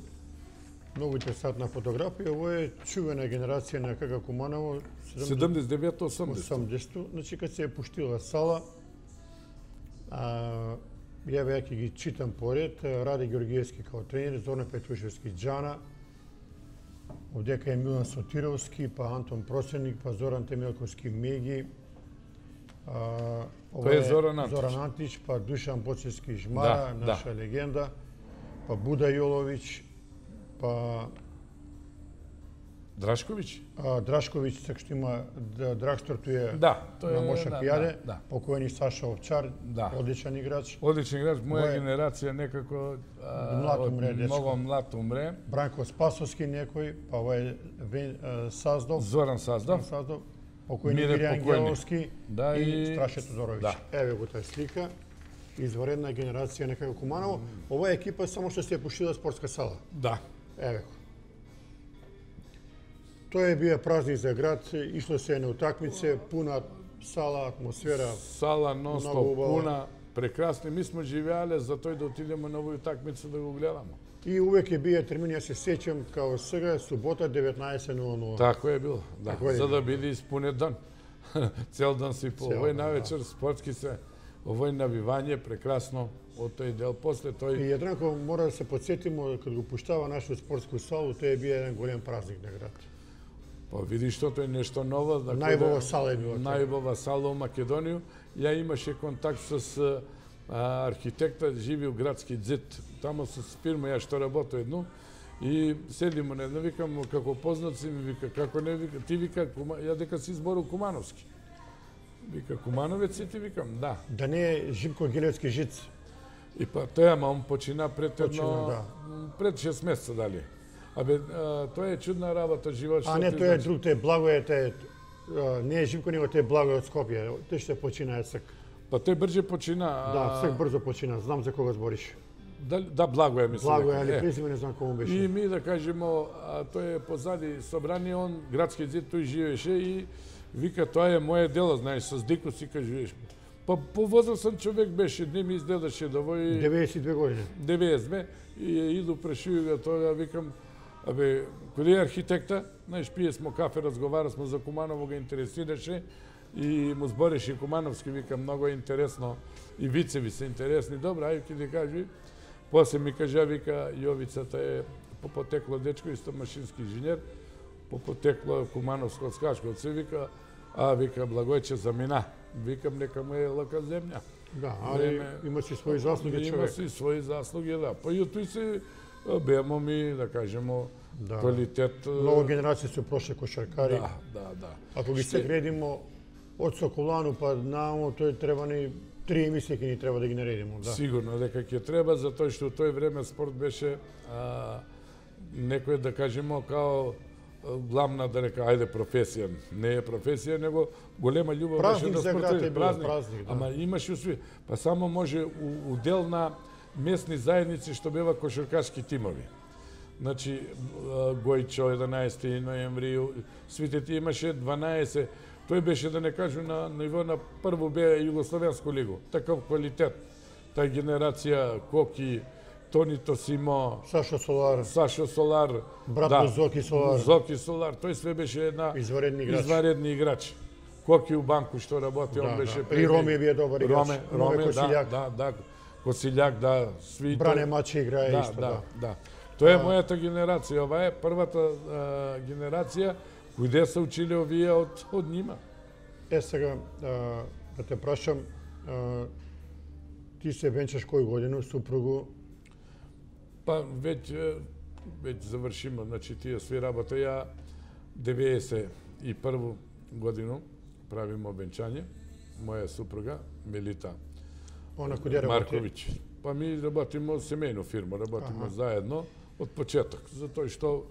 Speaker 1: Многу интересантна фотографија. Ово е чувена генерација на КК Куманово.
Speaker 2: седумдесет и девето осумдесет.
Speaker 1: осумдесет. Значи, кад се е пуштила сала, а, ја веќе ги читам поред, Раде Георгиевски као тренер, Зоран Петрушевски Джана, овдека е Милан Сотировски, па Антон Просеник, па Зоран Темелковски Меги, а, ова
Speaker 2: Кој е Зоран Антич?
Speaker 1: Зоран Антич, па Душан Боцевски Жмара,
Speaker 2: Да,
Speaker 1: наша
Speaker 2: да.
Speaker 1: легенда, па Буда Јоловиќ, па
Speaker 2: Драшковиќ?
Speaker 1: а, Драшковиќ, така што има Д- Драгстор, тој е
Speaker 2: Да, тој
Speaker 1: на
Speaker 2: е,
Speaker 1: Моша
Speaker 2: да,
Speaker 1: Пијаде,
Speaker 2: да, да.
Speaker 1: покојни Саша Овчар,
Speaker 2: Да.
Speaker 1: одличен играч,
Speaker 2: Одличен играч, моја
Speaker 1: Мој-
Speaker 2: генерација некако а,
Speaker 1: Млад
Speaker 2: од
Speaker 1: умре, дечко.
Speaker 2: многу млад умре.
Speaker 1: Бранко Спасовски некој, па ова е Вен, а, Саздов,
Speaker 2: Зоран Саздов.
Speaker 1: Саздов, покојни
Speaker 2: Мире
Speaker 1: Мире
Speaker 2: покојни.
Speaker 1: Ангеловски
Speaker 2: Да,
Speaker 1: и
Speaker 2: и-
Speaker 1: Страше Тодоровиќ.
Speaker 2: Да.
Speaker 1: Еве го таа слика. Изваредна генерација на КК Куманово. Ова е екипа само што се е пуштила спортска сала.
Speaker 2: Да.
Speaker 1: Еве го. Тоа е бија празник за град, ишло се на утакмице, пуна сала, атмосфера.
Speaker 2: Сала
Speaker 1: Многу
Speaker 2: нон-стоп
Speaker 1: убава.
Speaker 2: пуна, прекрасни. Ми сме живеале за тој да отидеме на овој утакмица да го гледаме.
Speaker 1: И увеќе бија термин, јас се сеќам, као сега, субота деветнаесет нула нула.
Speaker 2: Тако е било, да,
Speaker 1: Тако е
Speaker 2: за да
Speaker 1: било.
Speaker 2: биде испунет ден. Цел ден си по
Speaker 1: Цел
Speaker 2: овој
Speaker 1: ден,
Speaker 2: навечер спортски се, овој навивање прекрасно од тој дел. После
Speaker 1: И
Speaker 2: тој
Speaker 1: Јадранко, мора да се подсетимо, кога го пуштава нашата спортску салу, тоа е бија еден голем празник на град.
Speaker 2: па види што тоа е нешто ново. да
Speaker 1: Најубава
Speaker 2: кој да-
Speaker 1: сала е била тоа.
Speaker 2: Најубава сала у Македонија. Ја имаше контакт со а, архитекта, живи у градски ДЗИТ. Тамо со фирма ја што работи едно. И седимо на едно, викам, како познаци, ми вика, како не, вика, ти вика, Кума... ја дека си збору Кумановски. Вика, Кумановец си ти, викам, да.
Speaker 1: Да не е Живко Гилевски жиц.
Speaker 2: И па тоа, ама он почина пред едно,
Speaker 1: Почина, да.
Speaker 2: пред шест месеца дали. Абе, а, тоа е чудна работа, живот.
Speaker 1: А
Speaker 2: што
Speaker 1: не,
Speaker 2: ти
Speaker 1: тоа е
Speaker 2: значи.
Speaker 1: друг, тоа е Благое, тоа е... а, Не е Живко, него тоа е Благое од Скопје. Тој што почина е цк.
Speaker 2: Па тој брже почина. а,
Speaker 1: Да, цк брзо почина. Знам за кога збориш.
Speaker 2: Да, да благо е, мислам.
Speaker 1: Благое,
Speaker 2: дека.
Speaker 1: али
Speaker 2: Е,
Speaker 1: презиме не знам кому
Speaker 2: И
Speaker 1: беше.
Speaker 2: ми да кажемо, а, тој е позади собрание, он градски ДЗИТ тој живееше и вика, тоа е моје дело, знаеш, со Дико си кажеш. Па повозрасен човек беше, не ми изгледаше да вој
Speaker 1: деветдесет и две години.
Speaker 2: деветдесет две и иду прашуju ga тоа, викам, абе, кој е архитекта? Знаеш, пие смо кафе, разговара смо за Куманово, го интересираше и му збореше Кумановски, вика, многу е интересно и вицеви се интересни. Добра, ајде ти кажи. После ми кажа, вика, Јовицата е по потекло дечко, исто машински инженер, по потекло Кумановско од Скачко, се вика, а вика, Благојче замина. Викам, нека му е лака земја.
Speaker 1: Да, али
Speaker 2: Време-
Speaker 1: има си своји заслуги
Speaker 2: Има
Speaker 1: човек.
Speaker 2: си своји заслуги, да. Па и тој се бемо ми, да кажемо,
Speaker 1: Да.
Speaker 2: квалитет.
Speaker 1: Многу генерации се прошли кошаркари.
Speaker 2: Да, да, да.
Speaker 1: Ако ги се гредимо од Соколану па наомо, тој треба ни три емисии ќе ни треба да ги наредимо, да.
Speaker 2: Сигурно дека ќе треба, затоа што тој време спорт беше а, некој, да кажемо, као а, главна, да река, ајде, професија. Не е професија, него голема љубов
Speaker 1: Празник
Speaker 2: беше
Speaker 1: за
Speaker 2: да
Speaker 1: град
Speaker 2: спортува.
Speaker 1: е бил, празник, да.
Speaker 2: Ама имаше усви. Па само може у, удел на местни заедници што бева кошаркашки тимови. Значи, а, Гојчо, единаесети ноември, свите ти имаше дванаесет. Тој беше, да не кажу, на ниво на прво бе Југословенско лигу. Таков квалитет. Тај генерација Коки, Тони Тосимо,
Speaker 1: Сашо Солар,
Speaker 2: Сашо Солар,
Speaker 1: брат
Speaker 2: да,
Speaker 1: на Зоки Солар,
Speaker 2: Зоки Солар, тој све беше една
Speaker 1: изваредни играч.
Speaker 2: изваредни играч. Коки у банку што работи,
Speaker 1: Да,
Speaker 2: он беше
Speaker 1: да. И Роме бие добар играч.
Speaker 2: Роме,
Speaker 1: Роме
Speaker 2: Роме, да,
Speaker 1: Косилјак.
Speaker 2: да, да, Косилјак, да, сви.
Speaker 1: Бране Мачи играе
Speaker 2: да,
Speaker 1: исто,
Speaker 2: да,
Speaker 1: да.
Speaker 2: да. Тоа е мојата генерација, ова е првата а, генерација кој се училе овие од од нима.
Speaker 1: Е сега, а, да те прашам, а, ти се венчаш кој годину, супругу,
Speaker 2: Па веќе веќе завршиме, значи тие сви работа. Ја деветдесет и прва годину правиме венчање. Моја супруга Мелита
Speaker 1: она кој работи.
Speaker 2: Марковиќ. Па ми работиме од семејна фирма, работиме заедно од почеток, затоа што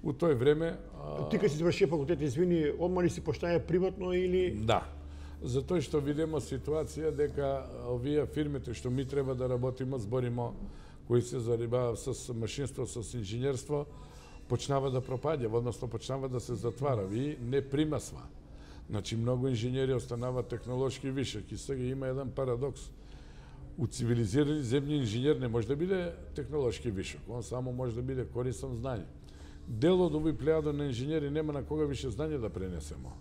Speaker 2: у тој време а,
Speaker 1: Ти кога си заврши факултет, извини, одма ли си поштаја приватно или...
Speaker 2: да. Затоа што видиме ситуација дека овие фирмите што ми треба да работиме, збориме кои се занимаваат со машинство, со инженерство, почнава да пропаѓа, односно почнава да се затвара и не примасва. Значи многу инженери останаваат технолошки вишек и сега има еден парадокс. У цивилизирани земји инженер не може да биде технолошки вишок, он само може да биде корисен знање. дел од овој плејада на инженери нема на кога више знање да пренесемо.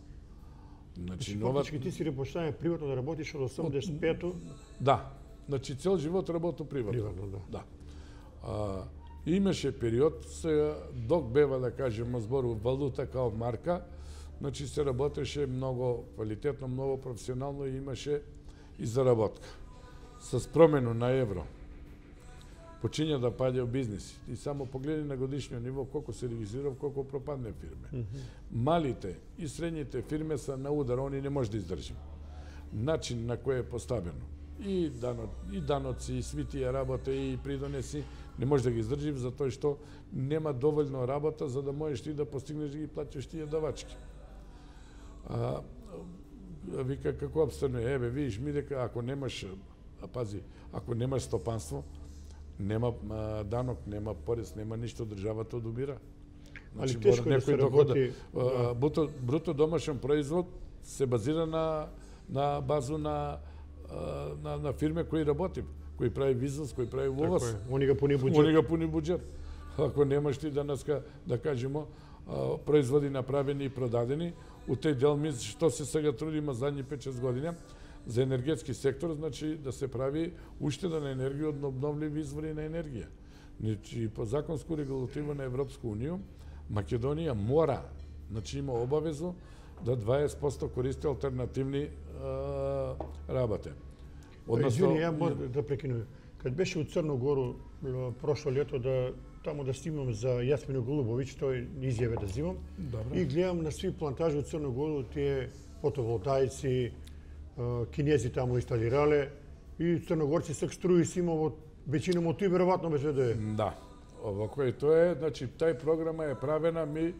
Speaker 1: Значи, нова... ти си репоштање приватно да работиш од осумдесет и петто?
Speaker 2: Да. Значи, цел живот работу приватно.
Speaker 1: Приватно, да.
Speaker 2: Да. А, имаше период, се, док бева, да кажеме, збору валута као марка, значи се работеше многу квалитетно, многу професионално и имаше и заработка. С промено на евро, почиња да паѓа бизнеси. И само погледи на годишниот ниво колку се регистрирав, колку пропадне фирме. Mm -hmm. Малите и средните фирме са на удар, они не може да издржим. Начин на кој е поставено. И, дано, и даноци, и сви тие работа, и придонеси, не може да ги издржим, затоа што нема доволно работа за да можеш ти да постигнеш да ги платиш тие давачки. А, вика, како обстанува? Еве, видиш ми дека ако немаш, а пази, ако немаш стопанство, нема а, данок, нема порез, нема ништо, државата одубира.
Speaker 1: Значи, али тешко да се работи...
Speaker 2: Да. Бруто, бруто домашен производ се базира на, на базу на, на, на фирме кои работи, кои прави бизнес, кои прави увоз.
Speaker 1: Они го пуни буџет.
Speaker 2: Они го пуни буџет. Ако немаш ти данеска, да кажемо, производи направени и продадени, у тој дел ми што се сега трудиме задни пет-шест години, за енергетски сектор, значи да се прави уштеда на енергија од обновливи извори на енергија. Значи, по законско регулатива на Европска унија, Македонија мора, значи има обавезу да дваесет проценти користи алтернативни а, работи.
Speaker 1: Односно, извини, ја може да прекинувам. Кад беше у Црногору прошло лето да таму да снимам за Јасмино Голубовиќ, тој изјаве да взимам. Добре. И гледам на сви плантажи у Црногору тие фотоволтаици, кинези таму инсталирале и црногорци се струи си има во веќином од тој веројатно беше да е.
Speaker 2: Да. Овако и тоа е, значи тај програма е правена ми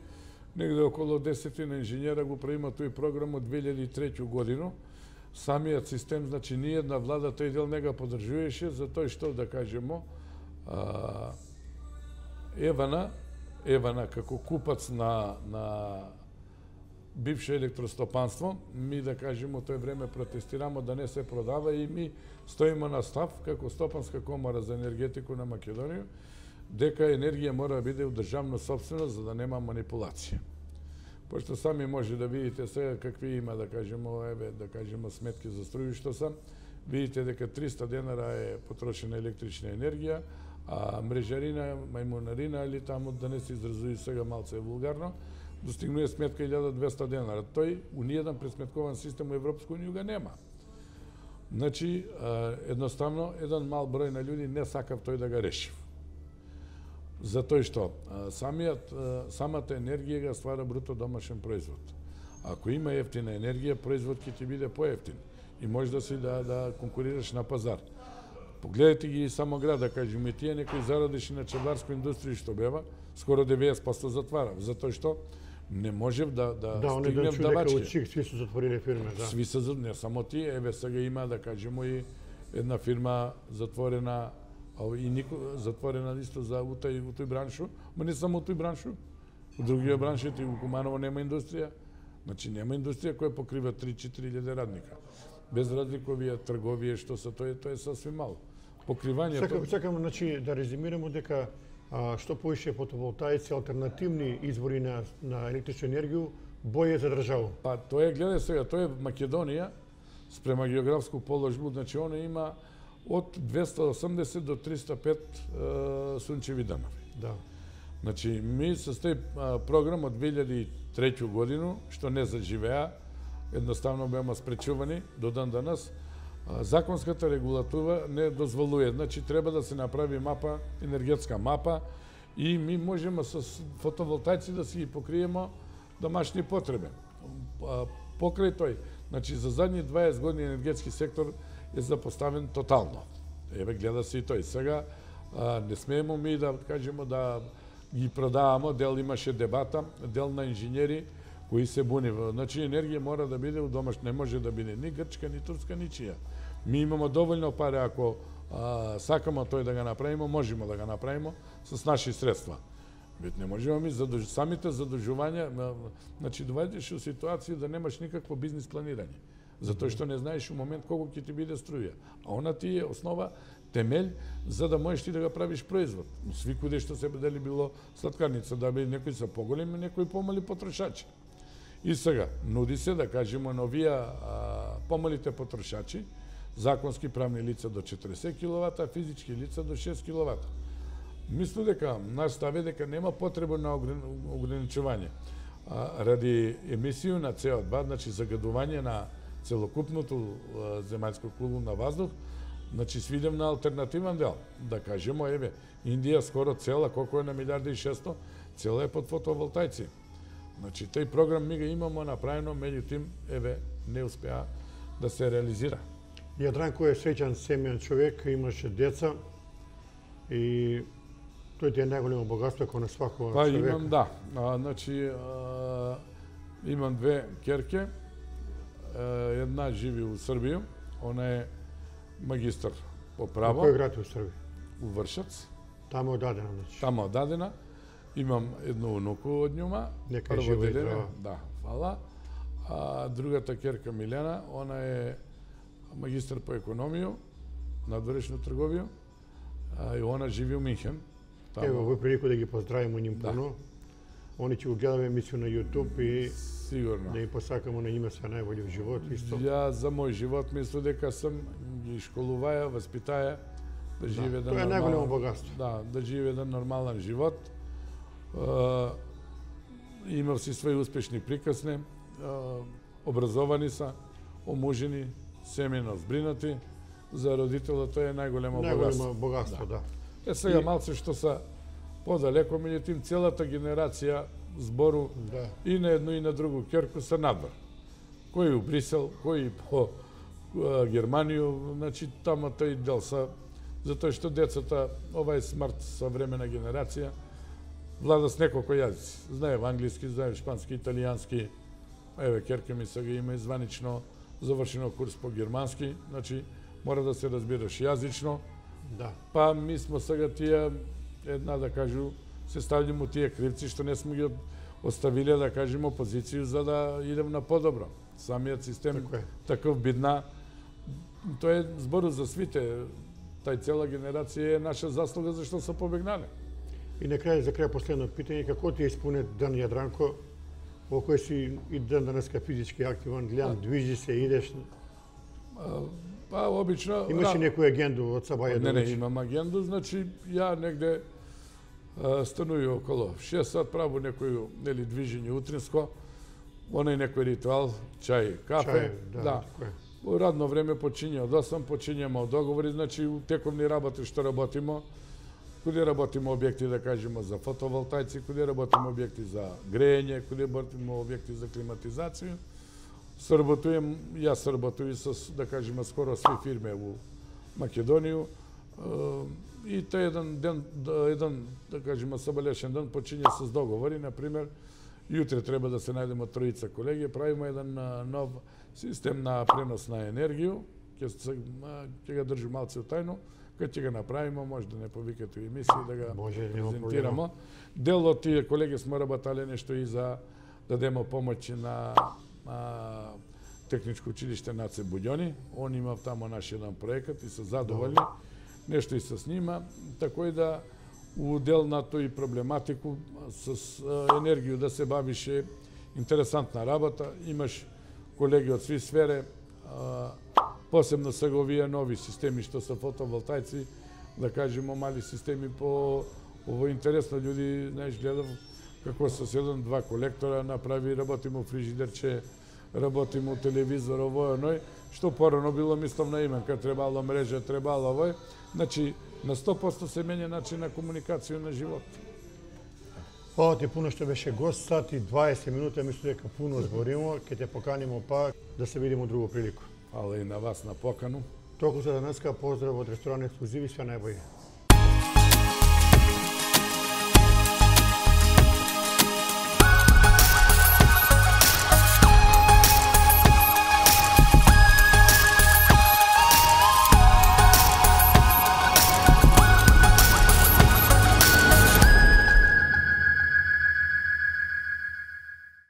Speaker 2: негде околу десетина инженера го правима тој програм од две илјади и трета година. Самиот систем, значи ние една влада тој дел не го поддржуваше за тој што да кажемо а, Евана, Евана како купац на на бивше електростопанство, ми да кажеме тој време протестирамо да не се продава и ми стоиме на став како Стопанска комора за енергетику на Македонија дека енергија мора да биде у државна собственост за да нема манипулација. Пошто сами може да видите сега какви има да кажеме еве да кажеме сметки за струја што се, видите дека триста денара е потрошена електрична енергија, а мрежарина, мајмунарина или таму да не се изразуи сега малце вулгарно, достигнува сметка илјада и двесте денара. Тој у ниједен пресметкован систем у Европска унија го нема. Значи, едноставно, еден мал број на луѓе не сакав тој да го реши. Затоа што самиот, самата енергија го ствара бруто домашен производ. Ако има ефтина енергија, производ ќе ти биде поевтин и може да си да, да конкурираш на пазар. Погледайте ги само град, да кажем, и тие некои зарадиш на чеварска индустрија што бева, скоро деветдесет проценти затвара, затоа што не можев да да,
Speaker 1: да
Speaker 2: стигнем да бачки.
Speaker 1: Да, они сви се затвориле фирме, да.
Speaker 2: Сви се, не само тие, еве сега има да кажемо и една фирма затворена, а и нико затворена исто за у тој у тој браншу, ма не само у тој браншу, у другиот бранши и у Куманово нема индустрија. Значи нема индустрија која покрива три-четири илјади радника. Без разликовија трговија што се тоа тоа е сасвим мало. Покривање.
Speaker 1: Сакам, сакам значи да резимираме дека а, што повише фотоволтаици, алтернативни извори на на електрична енергија, боје за држава.
Speaker 2: Па тоа е, гледај сега, тоа е Македонија спрема географско положба, значи она има од двесте и осамдесет до триста и пет е, сончеви данови.
Speaker 1: Да.
Speaker 2: Значи ми со тој програм од две илјади и трета година што не заживеа, едноставно беа спречувани до дан данас. Законската регулатива не дозволува, значи треба да се направи мапа, енергетска мапа и ми можеме со фотоволтаици да си ги покриеме домашни потреби. Покрај тој, значи за задни дваесет години енергетски сектор е запоставен тотално. Еве гледа се и тој. Сега не смееме ми да кажеме да ги продаваме, дел имаше дебата, дел на инженери кои се буни. Значи енергија мора да биде у домаш, не може да биде ни грчка, ни турска, ни чија. Ми имаме доволно пари, ако а, сакаме тој да го направиме, можеме да го направиме с наши средства. Вет не можеме ми задуж... самите задужувања, значи доведеш у ситуација да немаш никакво бизнис планирање. Затоа што не знаеш у момент колку ќе ти биде струја. А она ти е основа, темель за да можеш ти да го правиш производ. Свикуде што се дали било сладкарница, да би некои се поголеми, некои помали потрошачи. И сега, нуди се да кажеме на овие помалите потрошачи, законски правни лица до четириесет киловата, а физички лица до шест киловата. Мислам дека наш став е дека нема потреба на ограничување. А, ради емисију на С О два, значи загадување на целокупното земјанско куло на воздух, значи свидем на алтернативен дел. Да кажеме, еве, Индија скоро цела, колко е на милијарда и шесто, цела е под фотоволтајци. Значи, тој програм ми го имамо направено, меѓутоа, еве, не успеа да се реализира.
Speaker 1: Јадранко е среќан семејан човек, имаше деца и тој ти е најголемо богатство кога на свакова
Speaker 2: па,
Speaker 1: човека.
Speaker 2: Па имам, да. А, значи, а, имам две керке. Една живи у Србија, она е магистар по право.
Speaker 1: Во кој град у Србија?
Speaker 2: У Вршац.
Speaker 1: Тамо е одадена, значи.
Speaker 2: Тамо е одадена. Имам едно унуку од њума.
Speaker 1: Нека е жива и здрава.
Speaker 2: Да, фала. А другата керка Милена, она е магистар по економија, надворешна трговија, а, и она живи у Минхен. Тамо...
Speaker 1: Ево, во прилику да ги поздравиме ним
Speaker 2: да.
Speaker 1: пуно. Они ќе го гледаме емисију на YouTube и
Speaker 2: сигурно
Speaker 1: да им посакаме на нима се најбољи во живот исто.
Speaker 2: Ја за мој живот мислам дека сам ги школуваја, васпитаја да живее да,
Speaker 1: тоа е најголемо богатство.
Speaker 2: Да, да живее еден нормален живот. Uh, имав си своји успешни приказни, uh, образовани са, омужени, семејно збринати, за родителот тоа е најголемо богатство.
Speaker 1: Најголемо богатство, да.
Speaker 2: да. Е сега и... малце што са подалеко, меѓутоа целата генерација збору
Speaker 1: да.
Speaker 2: И на едно и на друго керку са надвор. Кој у Брисел, кој по uh, Германија, значи тама тој дел са, затоа што децата, ова е смарт современа генерација, влада с неколку јазици. Знае англиски, знае шпански, италијански. Еве, керка ми сега има и званично завршено курс по германски, значи мора да се разбираш јазично.
Speaker 1: Да.
Speaker 2: Па ми смо сега тие, една да кажу, се ставljamo тие кривци што не сме ги оставиле, да кажеме, опозицију за да идем на подобро. Самиот систем таков бидна, тоа е збору за свите. Тај цела генерација е наша заслуга зашто се побегнале.
Speaker 1: И на крај, за крај последно питање, како ти испуне ден Јадранко, во кој си и ден денеска физички активен, гледам, движи се, идеш?
Speaker 2: А, па, обично...
Speaker 1: Имаш ли некоја агенду од сабаја до
Speaker 2: Не, не,
Speaker 1: вечер?
Speaker 2: имам агенду, значи, ја негде а, стануи около шест сат, праву некој, нели, движење утринско, онај некој ритуал, чај, кафе,
Speaker 1: Чај, да,
Speaker 2: да.
Speaker 1: така е.
Speaker 2: Во радно време почиња од осам, почињаме од договори, значи, у тековни работи што работимо, куде работиме објекти, да кажеме, за фотоволтајци, куде работиме објекти за грејење, куде работиме објекти за климатизација. Сработуjem, јас сработуjem со, да кажеме, скоро сви фирме во Македонија. И тој еден ден, еден, да кажеме, собелешен ден почиња со договори, например, јутре треба да се најдеме тројица колеги, правиме еден нов систем на пренос на енергија, ќе ќе го држи малце тајно, кога ќе го направиме, може да не повикате у емисија да го презентираме. Дел од тие колеги сме работале нешто и за да дадеме помоќи на, на техничко училиште Наце Буѓони. Он има тамо наш еден проекат и се задоволни. Нешто и се снима, тако и да у дел на тој проблематику с енергија да се бавише интересантна работа. Имаш колеги од сви сфере, посебно сега овие нови системи што се фотоволтајци, да кажеме мали системи по ово интересно луѓе, знаеш, гледав како со еден два колектора направи, работиме у фрижидерче, работиме у телевизор, овој оној, што порано било мислам на имен, кога требало мрежа, требало овој, значи на сто проценти се менја начин на комуникација на живот.
Speaker 1: Фала ти пуно што беше гост, сат и дваесет минути, мислам дека пуно зборимо, ќе те поканимо пак да се видиме друго прилику.
Speaker 2: Фала и на вас на покану.
Speaker 1: Толку за денеска, поздрав од ресторан Ексклузиви, све најбоље.